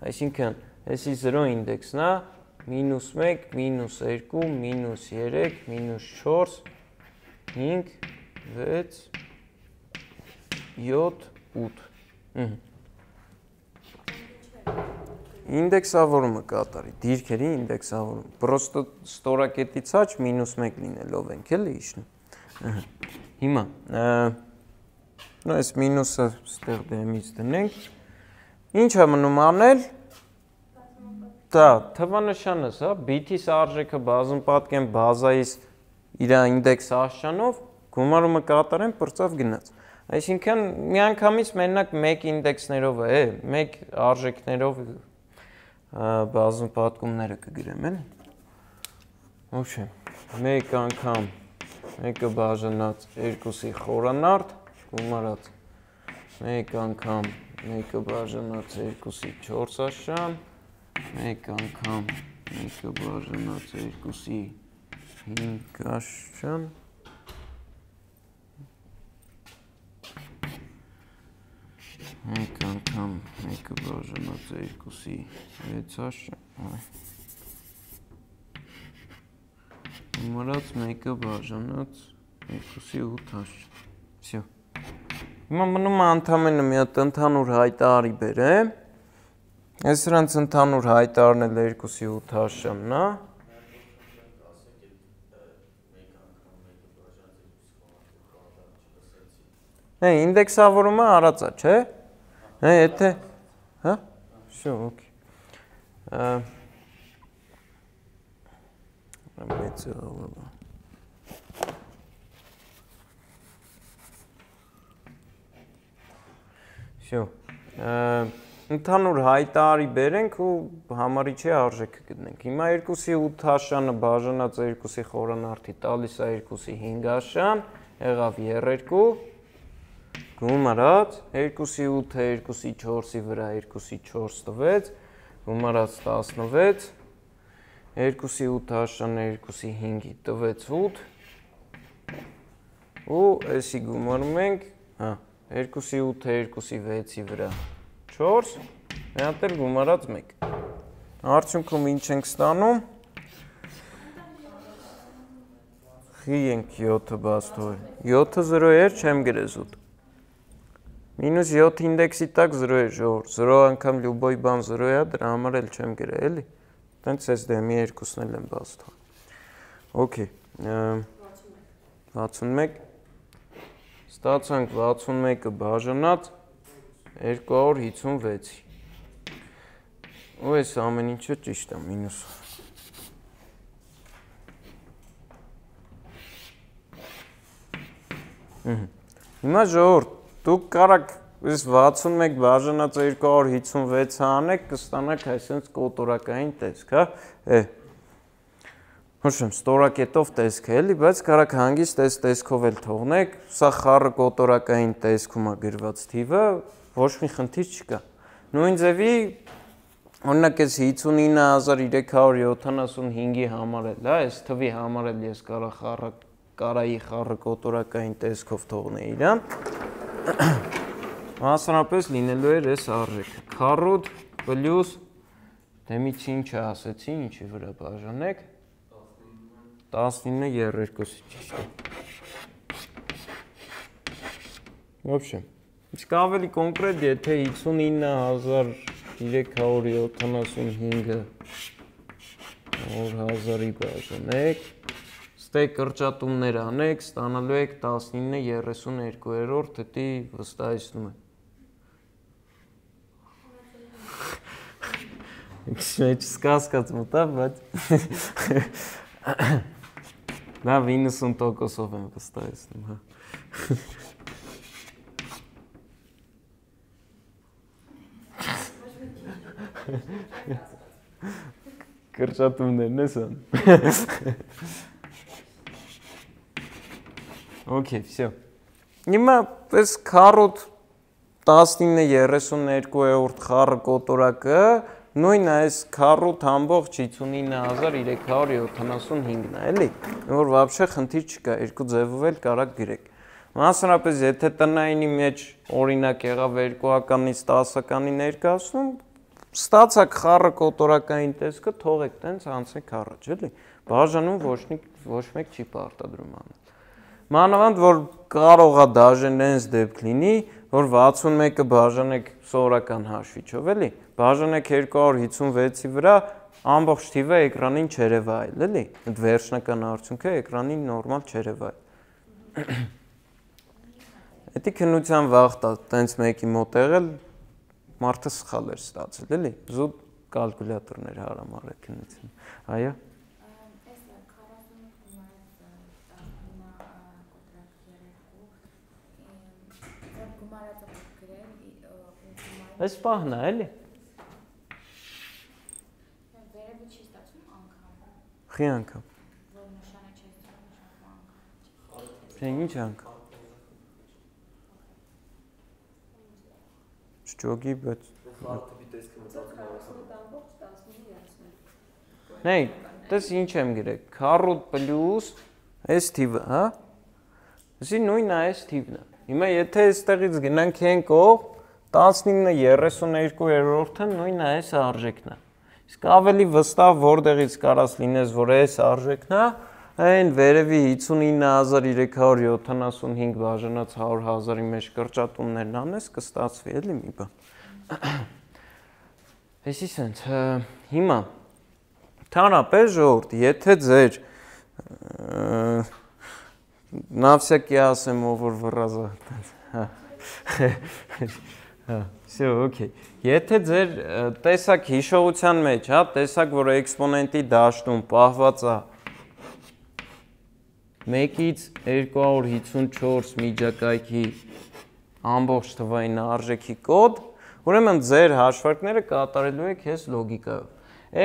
այսինքն էսի 0 ինդեքսն է, -1, -2, -3, -4, 5, 6, 7, 8։ Ինդեքսավորումը կատարի, դիրքերի ինդեքսավորում, պրոստը ստորակետից աչ -1 լինելով ենք էլի իշնում։ Հիմա, այս մինուսը ստեղ դեմից դնենք, ինչ է մնում անել, դա թվանշանս, հա, բիթիս արժեքը բազում պատկեմ բազայիս իր ինդեքս աշճանով, գումարումը կատարեմ, պրծավ գնաց։ Այսինքն միանգամից մենակ 1 ինդեքսներով է, 1 արժեքներով բազում պատկումները կգրեմ, էլի։ Ոչե, 1 անգամ 1-ը բաժանած 2-ի խորանարդ, գումարած 1 անգամ 1-ը բաժանած 2-ի 4 աշան, 1 անգամ 1-ը բաժանած 2-ի 5 աշան, 1 անգամ 1-ը բաժանած 2-ի 6 աշան, Գումարած 1-ը բաժանած 2-ի 8 աշան, всё։ Հիմա մնում է ընդամենը մի հատ ընդհանուր հայտարարի բերեմ։ Այս սրանց ընդհանուր հայտարարն էլ 2/8 հաշանն է։ Ինդեքսավորումը արած է, չէ՞։ Եթե հա? Всё, օքեյ։ Всё։ Ընդհանուր հայտարարի բերենք ու համարիչի արժեքը գտնենք։ Հիմա 2/8 հաշանը բաժանած 2-ի խորանարդի տալիս է 2/5 հաշան, եղավ 2, գումարած 2/8-ը 2/4-ի վրա 2/4 տվեց, գումարած 16, 2/8 հաշանը 2/5-ի տվեց 8, ու էսի գումարում ենք, 2/8-ը 2/6-ի վրա 4, միատ էլ գումարած 1։ Արդյունքում ինչ ենք ստանում։ Խի ենք 7-ը բաց թողել։ 7-ը 0 էր, չեմ գրել զուտ։ Մինուս 7 ինդեքսի տակ 0 է, ժողովուրդ, 0 անգամ լյուբոյ բան 0 է, դրա համար էլ չեմ գրել, էլի։ Տենց ես դեմի 2-ն էլ եմ բաց թողել։ Okay, 61 ստացանք 61-ը բաժանած 256-ի։ Ու այս ամեն ինչը ճիշտ է, մինուս։ Հիմա ժողովուրդ, դուք կարաք այս 61 բաժանած 256-ը անեք, կստանաք այսպես կոտորակային տեսք, հա։ Հուշեմ, ստորակետով տեսք է, էլի, բայց կարաք հանգիստ այս տեսքով էլ թողնեք, սա խառը կոտորակային տեսքում է գրված թիվը, ոչ մի խնդիր չկա։ Նույն ձևի, օրինակ այս 59375-ի համարել, հա, այս թվի համարել ես կարայի խառը կոտորակային տեսքով թողնել իրան, մասնապես լինելու էր այս արժեքը, քառոդ պլյուս, դեմից ինչը ասեցի, ինչի վրա բաժանեք, 19/2-ի ճիշտ է։ Ոբշեմ, իսկ ավելի կոնկրետ, եթե 59375-ը 1000-ի բաժանեք, ստե կրճատումներ անեք, ստանալու եք 19/32, դետի վստահեցնում եմ։ Ինչ սկասկած մտա, բայց Դա 90%-ով եմ վստահեցնում, հա։ Կրճատումներն ես ան։ Okay, всё։ Հիմա այս քառոդ 19/32 խառը կոտորակը նույն այս քառոդ ամբողջ 59375-ն է, էլի, որ вообще խնդիր չկա, երկու ձևով էլ կարաք գրեք։ Մասնապես եթե տնայինի մեջ օրինակ եղավ 2-ականից 10-ականի ներկայացնում, ստացակ խառը կոտորակային տեսքը թողեք տենց անցեք առաջ, էլի։ Բաժանում ոչ մեկ չի պարտադրում անել։ Մանավանդ որ կարող է դաժեն այնց դեպք լինի, որ 61-ը բաժանեք սովորական հաշվիչով, էլի, բաժանեք 256-ի վրա, ամբողջ թիվը էկրանին չերևա այլ, էլի, այդ վերջնական արդյունքը էկրանին նորմալ չերևա այլ։ Էդի քննության վաղ տենց մեկի մոտ եղել, մարդը սխալ էր ստացել, էլի, զուտ կալկուլյատորներ հարամարել քննություն, այո։ Այս պահն է, էլի։ Վերևը չի ստացվում անգամ։ Խի անգամ։ Որ նշանը չի ստացվում անգամ։ Ինչ անգամ։ Չջոգի, բայց Նեյ, տես ինչ եմ գրել, քառոդ պլյուս այս թիվը, հա։ Այսի նույնն է այս թիվն է։ Հիմա եթե այստեղից գնանք են կողմ 19/32-ը նույնն է այս արժեքն է։ Իսկ ավելի վստահ որտեղից կարաս լինես, որ այս արժեքն է, Այն վերևի 59375 բաժանած 100,000-ի մեջ կրճատումներն անես, կստացվի էլի մի բան։ Էսի սենց, հիմա թարապես ժողովուրդ, եթե ձեր նավսյակի ասեմ, ով որ վռազա, Всё, օքեյ։ Եթե ձեր տեսակ հիշողության մեջ, հա, տեսակ, որ էքսպոնենտի դաշտում պահված է 1-ից 254 միջակայքի ամբողջ թվային արժեքի կոդ, ուրեմն ձեր հաշվարկները կատարելու եք այս լոգիկայով։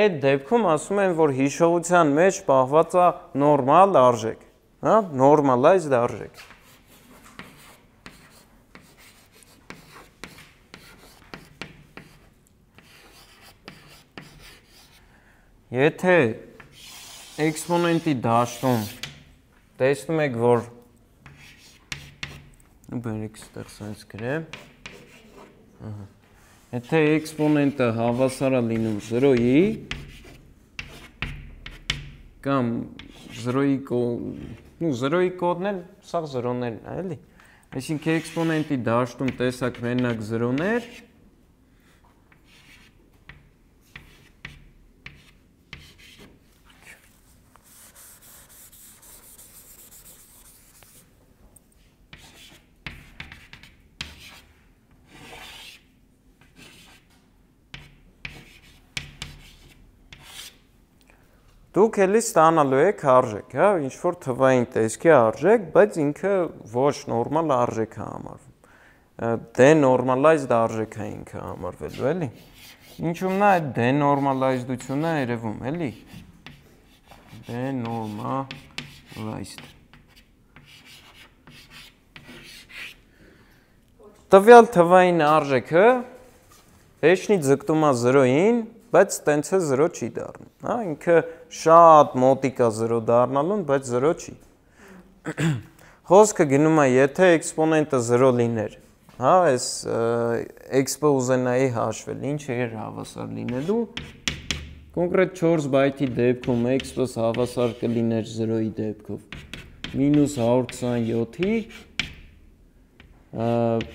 Այդ դեպքում ասում են, որ հիշողության մեջ պահված է նորմալ արժեք, հա, normalized արժեք։ Եթե էքսպոնենտի դաշտում տեսնում եք, որ բերեք ստեղ սենց գրեմ, եթե էքսպոնենտը հավասար է լինում 0-ի կամ 0-ի կոդն էլ սաղ 0-ներն է, էլի։ Այսինքն էքսպոնենտի դաշտում տեսակ մենակ 0-ներ, դուք էլի ստանալու եք արժեք, հա, ինչ-որ թվային տեսքի արժեք, բայց ինքը ոչ նորմալ արժեք է համարվում, denormalized արժեք է ինքը համարվելու, էլի, ինչումն է այդ denormalized-ությունը երևում, էլի, denormalized, տվյալ թվային արժեքը հեշնի ձգտում է 0-ին, բայց տենց է 0 չի դառնում, հա, ինքը շատ մոտիկ է 0 դառնալուն, բայց 0 չի։ Խոսքը գնում է, եթե էքսպոնենտը 0 լիներ, հա, այս x-ը ուզենայի հաշվել, ինչ էր հավասար լինելու, կոնկրետ 4 բայթի դեպքում x-ը հավասար կլիներ 0-ի դեպքով, մինուս 127-ի,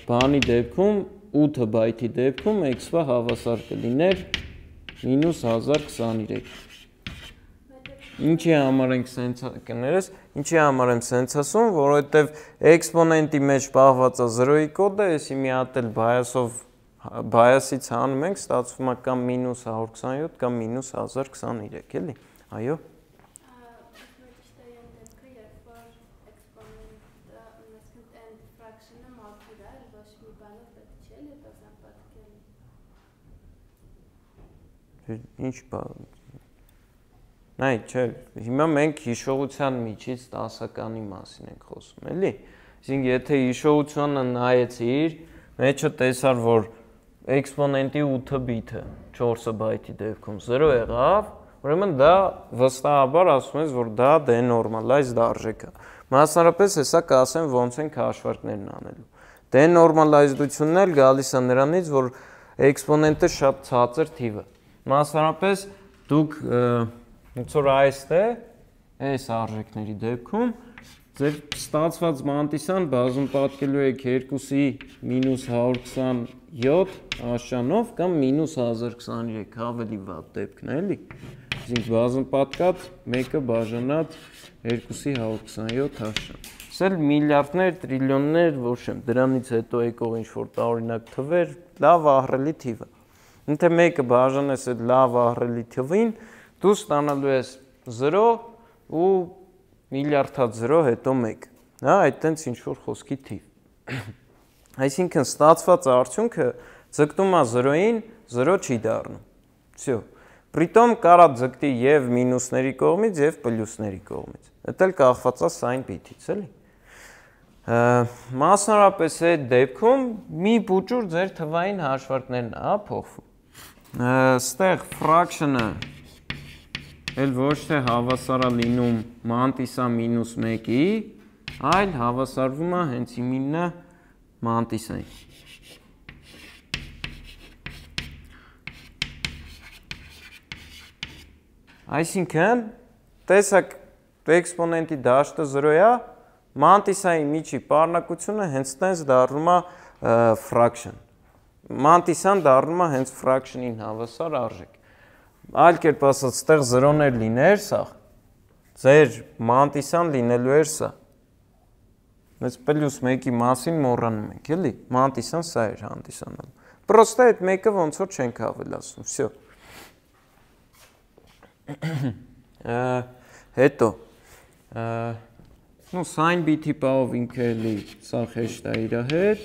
բանի դեպքում, 8 բայթի դեպքում x-ը հավասար կլիներ մինուս 1023։ Ինչի համար ենք սենց կներես, ինչի համար եմ սենց ասում, որովհետև էքսպոնենտի մեջ պահված է 0-ի կոդը, եսի մի հատ էլ բայասից հանում ենք, ստացվում է կամ մինուս 127 կամ մինուս 1023, էլի, այո։ Ինչ բան, նայ, չէ, հիմա մենք հիշողության միջից տասականի մասին ենք խոսում, էլի, այսինքն եթե հիշողությունը նայեցիր, մեջը տեսար, որ էքսպոնենտի 8 բիթը 4 բայթի դեպքում 0 եղավ, ուրեմն դա վստահաբար ասում ես, որ դա denormalized արժեք է, մասնարապես հեսա կասեմ ոնց ենք հաշվարկներն անելու, denormalized-ությունն էլ գալիս է նրանից, որ էքսպոնենտը շատ ցածր թիվ է, մասնարապես դուք ոնց որ այս արժեքների դեպքում ձեր ստացված մանտիսան բազում պատկելու եք 2-ի մինուս 127 աշանով կամ մինուս 1023 ավելի վատ դեպքն է, էլի, այսինքն բազում պատկած 1-ը բաժանած 2-ի 127 աշան, սել միլիարդներ, տրիլիոններ, ոչ եմ, դրանից հետո եկող ինչ-որ տարօրինակ թվեր, լավ ահռելի թիվ է, Ինթե մեկը բաժանես այդ լավ ահռելի թվին, դու ստանալու ես 0 ու միլիարդած 0 հետո 1, հա, այդ տենց ինչ-որ խոսքի թիվ։ Այսինքն ստացված արդյունքը ձգտում է 0-ին, 0 չի դառնում։ Всё։ Պրիտոմ կարա ձգտի եւ մինուսների կողմից եւ պլյուսների կողմից։ Դա էլ կախված է սայն բիթից, էլի։ Մասնարապես այդ դեպքում մի փուճուր ձեր թվային հաշվարկներն է փոխվում։ Ստեղ fraction-ը էլ ոչ թե հավասար է լինում մանտիսա մինուս 1-ի, այլ հավասարվում է հենց իմինը մանտիսային։ Այսինքն, տեսակ էքսպոնենտի դաշտը 0 է, մանտիսայի միջի պարունակությունը հենց տենց դառնում է fraction։ Մանտիսան դառնում է հենց fraction-ին հավասար արժեք։ Այլ կերպ ասած, ստեղ 0-ներ լիներ սա, ձեր մանտիսան լինելու էր սա։ Այս պլյուս 1-ի մասին մոռանում ենք, էլի, մանտիսան սա էր հանդիսանալու։ Պրոստը այդ մեկը ոնց որ չենք ավելացնում, всё։ Հետո ну sin bit-ի պահով ինքը էլի սա հեշտ է իր հետ,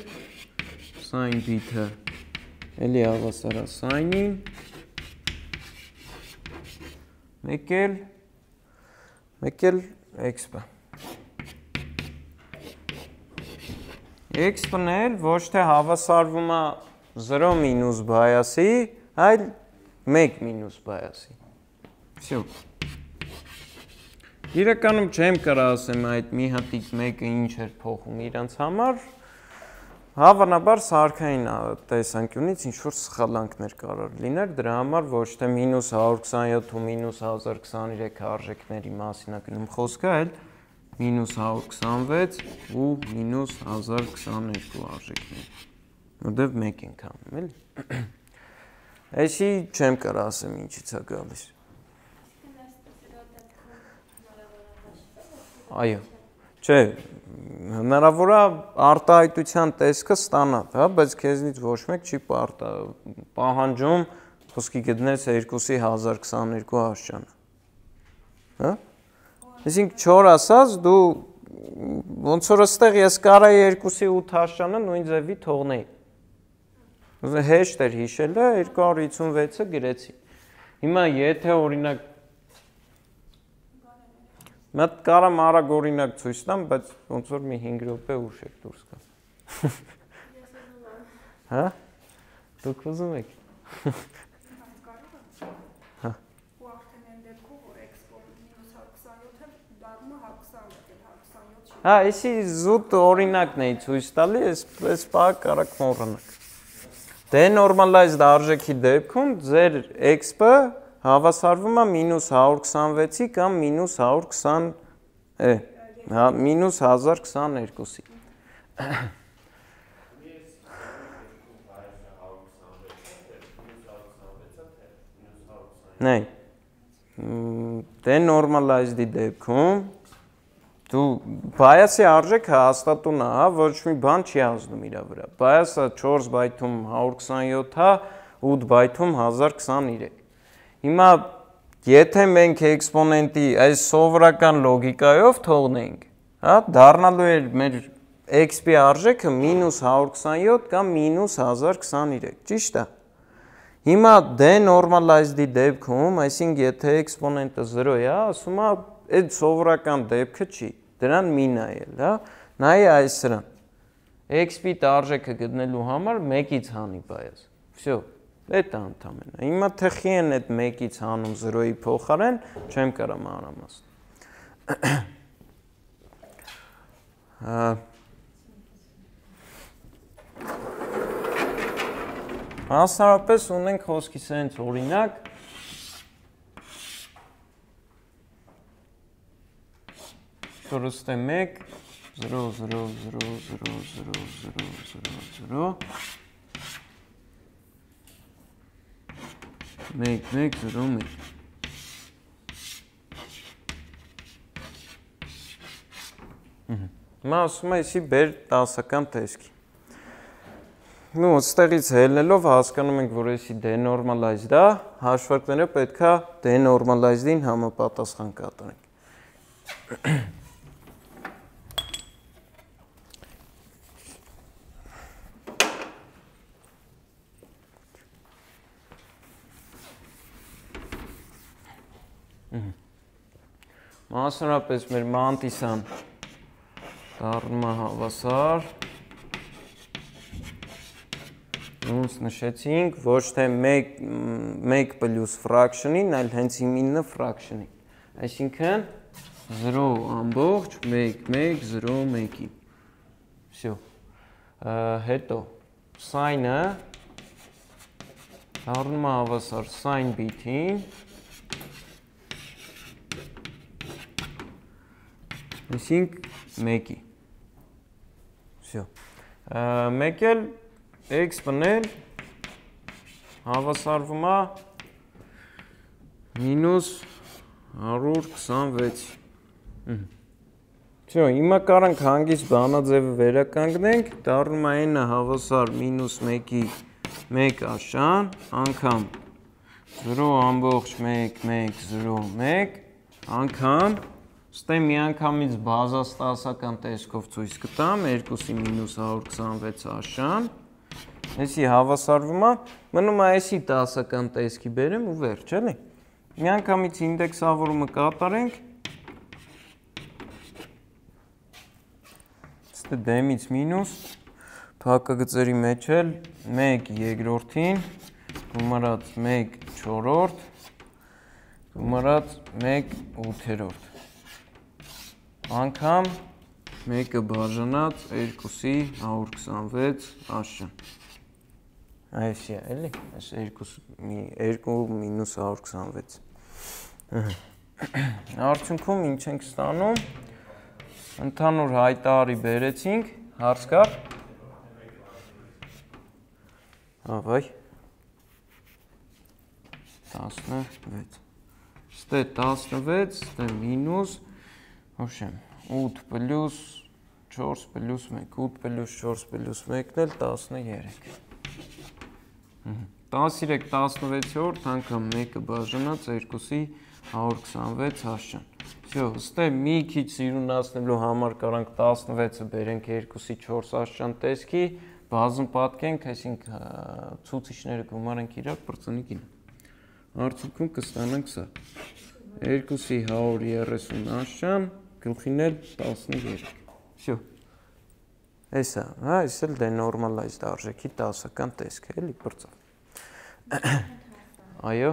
sin bit-ը էլի հավասար է sin-ին, մեկ էլ x-ը։ X-ն էլ ոչ թե հավասարվում է 0 մինուս բայասի, այլ 1 մինուս բայասի։ Всё։ Իրականում չեմ կարող ասեմ այդ մի հատիկ մեկը ինչ էր փոխում իրանց համար, հավանաբար սարքային տեսանկյունից ինչ որ սխալանքներ կարող լիներ, դրա համար ոչ թե -127 ու -1023 արժեքների մասին է գնում խոսքը, այլ -126 ու -1022 արժեքներ։ Որտեվ մեկ ենք անում, էլի։ Այսի չեմ կարող ասեմ ինչից է գալիս։ Այո, չէ, հնարավոր է արտահայտության տեսքը ստանալ, հա, բայց քեզնից ոչ մեկ չի պահանջում խոսքի գտնես 2-ի 1022 աշճանը։ Հա? Այսինքն 4 ասած դու ոնց որ այստեղ ես կարայի 2-ի 8 աշճանը նույն ձևի թողնեի։ Հեշտ էր հիշելը 256-ը գրեցի։ Հիմա եթե օրինակ Մատ կարամ արագ օրինակ ցույց տամ, բայց ոնց որ մի 5 րոպե ուշ եք դուրս գա։ Հա? Դուք ուզում եք։ Հա։ Ու արդեն այն դեպքում որ -127-ը դառնում է 127 Հա, էսի զուտ օրինակն էի ցույց տալի, այս բանը կարաք մոռանաք։ Denormalized արժեքի դեպքում ձեր x-ը հավասարվում է -126-ի կամ -120, հա, -1022-ի։ Նայ, denormalized-ի դեպքում դու bias-ի արժեքը հաստատուն է, հա, ոչ մի բան չի ազդում իր վրա։ Bias-ը 4 բայթում 127 է, 8 բայթում 1023։ Հիմա եթե մենք էքսպոնենտի այս սովորական լոգիկայով թողնենք, հա, դառնալու էր մեր x-ի արժեքը -127 կամ -1023, ճիշտ է։ Հիմա denormalized-ի դեպքում, այսինքն եթե էքսպոնենտը 0 է, ասում է այդ սովորական դեպքը չի, դրան մի նայել, հա, նայ այս սրան։ x-ի արժեքը գտնելու համար 1-ից հանի բայաս։ Всё, դա ընդամենը։ Հիմա թե խի են այդ 1-ից հանում 0-ի փոխարեն, չեմ կարող մանրամասն։ Մասնավորապես ունենք խոսքի սենց օրինակ, որ ըստե 1 0 0 0 0 0 0 0 0 1 1 0 1 Հիմա ասում է իսի բեր 10-ական տեսքի։ Ну, այստեղից ելնելով հասկանում ենք, որ էսի denormalized է, հաշվարկները պետքա denormalized-ին համապատասխան կատարենք։ Մասնավորապես մեր մանտիսան դառնում է հավասար։ Ոնց նշեցինք, ոչ թե 1 պլյուս fraction-ին, այլ հենց 9 fraction-ին։ Այսինքն 0 ամբողջ 1 1 0 1-ի։ Всё։ Հետո sin-ը դառնում է հավասար sin bit-ին Իսկ 1-ի։ Всё։ Մեկ էլ էքսպոնել հավասարվում է -126։ Всё, հիմա կարանք հանգիստ բանաձևը վերականգնենք, դառնում է n-ը հավասար -1-ի 1 աշան, անգամ 0.1.1.0.1 անգամ, ստե միանգամից բազաս 10-ական տեսքով ցույց կտամ, 2-ի -126 աշան, այսի հավասարվում է, մնում է այսի 10-ական տեսքի բերեմ ու վերջ, էլի։ Միանգամից ինդեքսավորումը կատարենք, ստե դեմից մինուս, փակագծերի մեջ էլ 1 երկրորդին, գումարած 1 չորրորդ, գումարած 1 ութերորդ, անգամ 1-ը բաժանած 2-ի 126 աշան։ Այսի է, էլի, այս 2 մինուս 126։ Արդյունքում ինչ ենք ստանում, ընդհանուր հայտարարի բերեցինք, հարց կար։ Ավայ, 16, ստե 16, ստե մինուս, ոչեմ, 8 պլյուս 4 պլյուս 1, 8 պլյուս 4 պլյուս 1-ն էլ 13։ 13 16-որդ անգամ 1-ը բաժանած 2-ի 126 աշան։ Всё, ստե մի քիչ սիրունացնելու համար կարանք 16-ը բերենք 2-ի 4 աշան տեսքի, բազում պատկենք, այսինքն ցուցիչները գումարենք իրար, պրծնիկին։ Արդյունքում կստանանք սա։ 2-ի 130 աշան, գլխին էլ 13։ Всё։ Էսա, հա, այս էլ դենորմալայզդ արժեքի 10-ական տեսք է, էլի պրծավ։ Այո։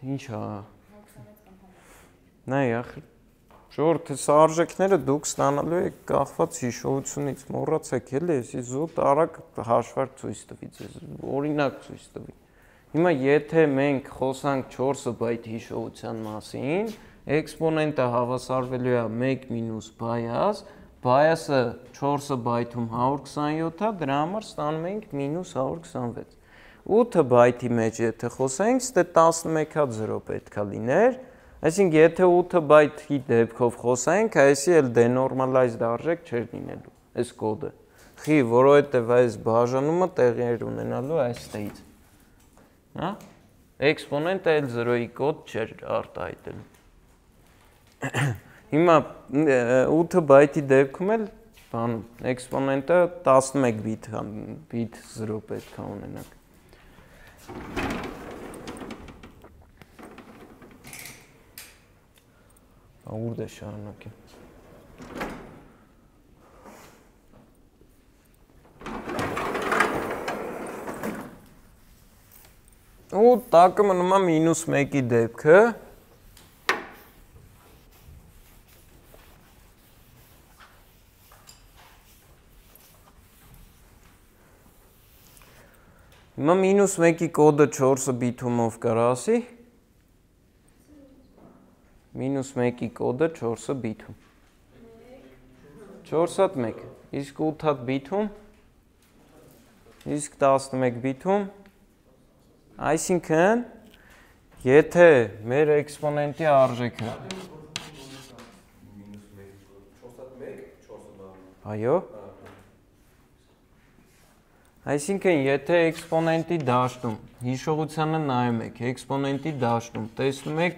Ինչ հա։ Նայ, ախր Ժողովուրդ, այս արժեքները դուք ստանալու եք կախված հիշողությունից, մոռացեք էլի, էսի զուտ արագ հաշվարկ ցույց տվի ձեզ, օրինակ ցույց տվի։ Հիմա եթե մենք խոսանք 4 բայթ հիշողության մասին, էքսպոնենտը հավասարվելու է 1 մինուս բայաս, բայասը 4 բայթում 127 է, դրա համար ստանում ենք մինուս 126։ 8 բայթի մեջ եթե խոսենք, ստե 11-ա 0 պետք է լիներ, այսինքն եթե 8 բայթի դեպքով խոսենք, այսի էլ դենորմալայզդ արժեք չէր լինելու, այս կոդը։ Խի, որովհետև այս բաժանումը տեղի էր ունենալու այստեղից։ Հա? Էքսպոնենտը էլ 0-ի կոդ չէր արտահայտել։ Հիմա 8 բայթի դեպքում էլ բանում, էքսպոնենտը 11 բիտ 0 պետք է ունենանք։ Ուր է շարունակեմ։ Ու տակը մնում է մինուս 1-ի դեպքը։ Հիմա մինուս 1-ի կոդը 4 բիթումով կար ասի։ Մինուս 1-ի կոդը 4 բիթում։ 4 հատ 1, իսկ 8 հատ բիթում, իսկ 11 բիթում, այսինքն, եթե մեր էքսպոնենտի արժեքը, այո, այսինքն, եթե էքսպոնենտի դաշտում, հիշողությանը նայում եք, էքսպոնենտի դաշտում, տեսնում եք,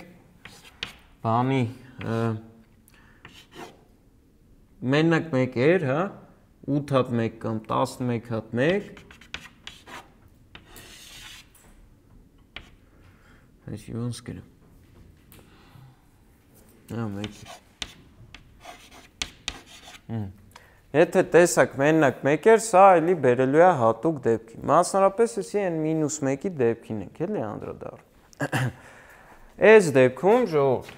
բանի, մենակ 1 էր, հա, 8 հատ 1 կամ 11 հատ 1, այսի ոնց կրեմ, հա, 1 Եթե տեսակ մենակ 1 էր, սա էլի բերելու է հատուկ դեպքի, մասնարապես էսի են մինուս 1-ի դեպքին ենք, էլի անդրադառնում։ Այս դեպքում, ժողովուրդ,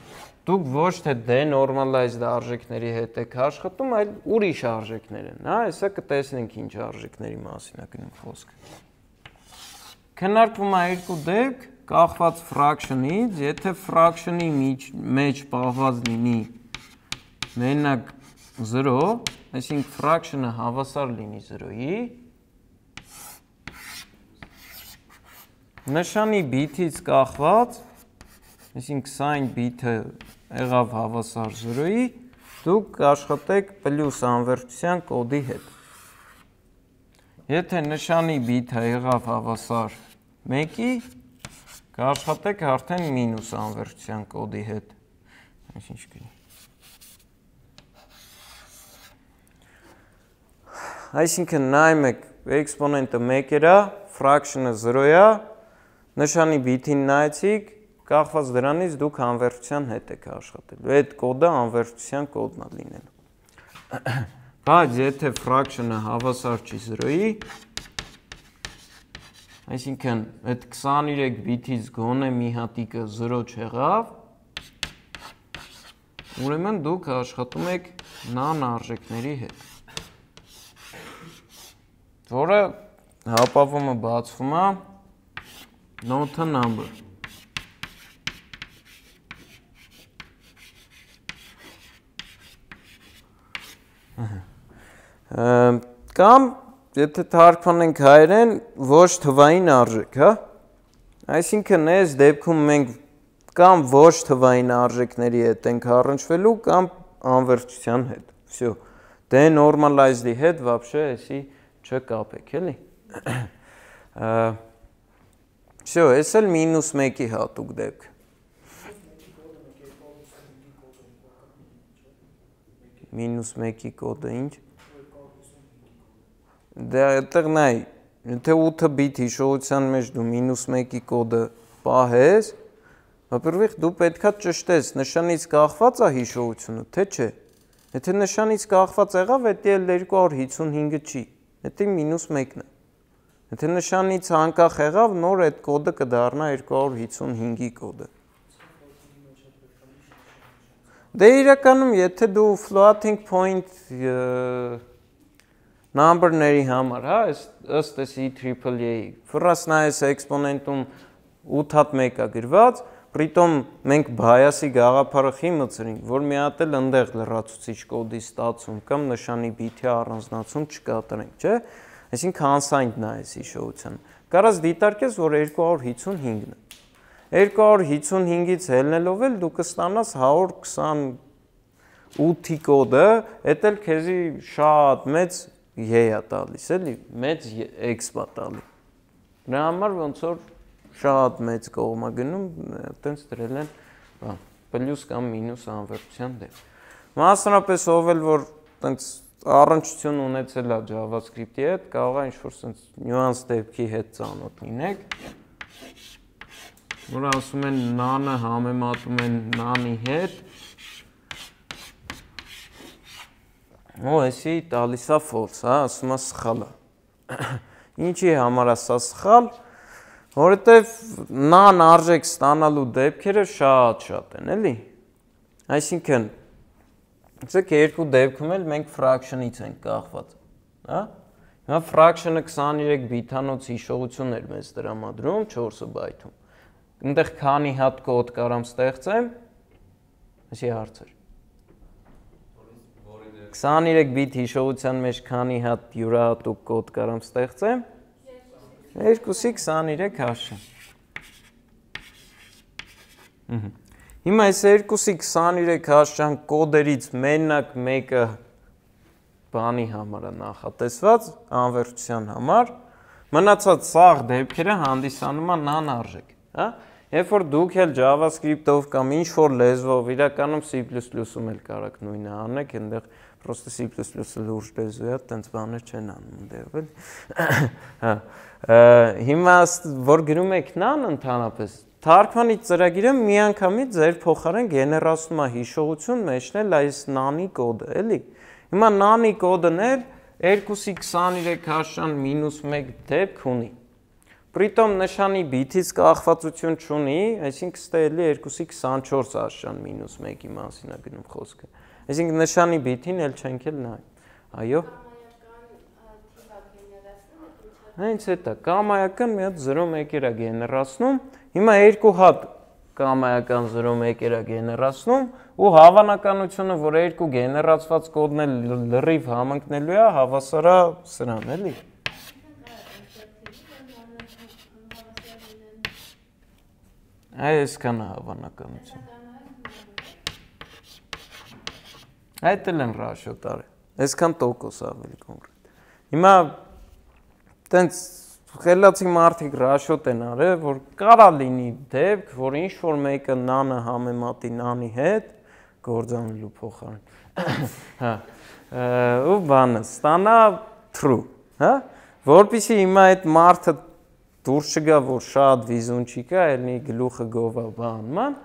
դուք ոչ թե դենորմալայզդ արժեքների հետ եք աշխատում, այլ ուրիշ արժեքներ են, հա, հեսա կտեսնենք ինչ արժեքների մասին է գնում խոսքը։ Քննարկվում է երկու դեպք, կախված fraction-ից, եթե fraction-ի մեջ պահված լինի մենակ 0, այսինքն fraction-ը հավասար լինի 0-ի, նշանի բիթից կախված, այսինքն sign բիթը եղավ հավասար 0-ի, դուք աշխատեք պլյուս անվերջության կոդի հետ։ Եթե նշանի բիթը եղավ հավասար 1-ի, կաշխատեք արդեն մինուս անվերջության կոդի հետ։ Ինչ կլինի։ Այսինքն նայում եք, էքսպոնենտը 1 է, fraction-ը 0 է, նշանի բիթին նայեցիք, կախված դրանից դուք անվերջության հետ եք աշխատելու։ Այդ կոդը անվերջության կոդն է լինելու։ Բայց եթե fraction-ը հավասար չի 0-ի, այսինքն այդ 23 բիթից գոնե մի հատիկը 0 չեղավ, ուրեմն դուք աշխատում եք նան արժեքների հետ, որը հապավումը բացվում է not a number։ Կամ եթե թարգմանենք հայերեն ոչ թվային արժեք, հա? Այսինքն այս դեպքում մենք կամ ոչ թվային արժեքների հետ ենք առնչվելու կամ անվերջության հետ։ Всё։ Դե normalized-ի հետ вообще էսի չկապեք, էլի։ Всё, էս էլ -1-ի հատուկ դեպք։ -1-ի կոդը ինչ։ Դե այդտեղ նայ, եթե 8 բիթ հիշողության մեջ դու -1-ի կոդը պահես, во-первых, դու պետքա ճշտես, նշանից կախված է հիշողությունը, թե չէ։ Եթե նշանից կախված եղավ, դա էլ 255-ը չի, դա -1-ն է։ Եթե նշանից անկախ եղավ, նոր այդ կոդը կդառնա 255-ի կոդը։ Դե իրականում, եթե դու floating point number-ների համար, հա, ըստ էս EEEE-ի, ֆրաս նայես էքսպոնենտում 8-1 է գրված, պրիտոմ մենք բայասի գաղափարը խի մտցրինք, որ մի հատ էլ ընդեղ լրացուցիչ կոդի ստացում կամ նշանի բիթի առանձնացում չկատարենք, չէ՞։ Այսինքն unsigned նայես հիշողության։ Կարաս դիտարկես, որ 255-ն է։ 255-ից ելնելով էլ դու կստանաս 128-ի կոդը, դա էլ քեզի շատ մեծ է տալիս, էլի, մեծ x բա տալի։ Դրա համար ոնց որ շատ մեծ կողմ է գնում, այտենց դրել են, պլյուս կամ մինուս անվերջության դեպք։ Մասնավորապես ով էլ որ այտենց առնչություն ունեցել է JavaScript-ի հետ, կարող է ինչ-որ sense նյուանս դեպքի հետ ծանոթ լինեք, որ ասում են none-ը համեմատում են none-ի հետ, ու էսի տալիս է false, հա, ասում է սխալ է։ Ինչի համար է սա սխալ, որովհետև none արժեք ստանալու դեպքերը շատ են, էլի։ Այսինքն Ցեք երկու դեպքում էլ մենք fraction-ից ենք կախված, հա? Հիմա fraction-ը 23 բիթանոց հիշողություն էր մեզ տրամադրում 4 բայթում։ Այնտեղ քանի հատ կոդ կարամ ստեղծեմ, այսի հարցեր։ 23 բիթ հիշողության մեջ քանի հատ յուրահատուկ կոդ կարամ ստեղծեմ։ 2-ի 23 հաշվի։ Հիմա այս 2-ի 23 հաշճան կոդերից մենակ մեկը բանի համար է նախատեսված, անվերջության համար, մնացած սաղ դեպքերը հանդիսանում են նան արժեք, հա? Երբ որ դուք էլ JavaScript-ով կամ ինչ-որ լեզվով, իրականում C++-ում էլ կարաք նույնը անեք, այնտեղ պրոստը C++-ը լուրջ լեզու է, տենց բաներ չեն անում այնտեղ, էլի։ Հիմա որ գրում եք նան ընդհանրապես Թարգմանի ծրագիրը միանգամից ձեր փոխարեն գեներացնում է հիշողություն մեջնել այս նանի կոդը, էլի։ Հիմա նանի կոդն էլ 2-ի 23 հաշճան -1 դեպք ունի։ Պրիտոմ նշանի բիթից կախվածություն չունի, այսինքն ստե էլի 2-ի 24 հաշճան -1-ի մասին է գնում խոսքը։ Այսինքն նշանի բիթին էլ չենք էլ նայ։ Այո։ Հենց էտա կամայական մի հատ 0-1-եր է գեներացնում, Հիմա երկու հատ կամայական 0,1 էրա գեներացնում ու հավանականությունը, որ երկու գեներացված կոդն էլ լրիվ համընկնելու է, հավասար է սրան, էլի։ Այսքան է հավանականություն։ Այդ էլ են ռաշիոտ արել, այսքան տոկոս ավելի կոնկրետ։ Հիմա տենց խելացի մարդիկ ռաշիոտ են արել, որ կարա լինի դեպք, որ ինչ-որ մեկը նանը համեմատի նանի հետ, գործանելու փոխարեն, հա, ու բանը, ստանա true, հա, որպեսզի հիմա այդ մարդը դուրս չգա, որ շատ վիզուն չի կա, ելնի գլուխը գովա բանման,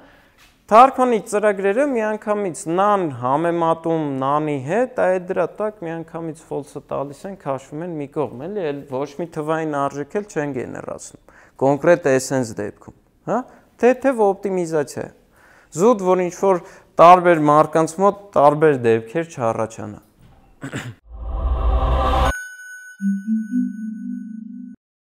թարգմանի ծրագրերը միանգամից նան համեմատում նանի հետ, այդ դրա տակ միանգամից false-ը տալիս են, քաշվում են մի կողմ, էլի, ոչ մի թվային արժեք էլ չեն գեներացնում, կոնկրետ essence դեպքում, հա, թեթև օպտիմիզացիա է, զուտ, որ ինչ-որ տարբեր մարդկանց մոտ տարբեր դեպքեր չառաջանա։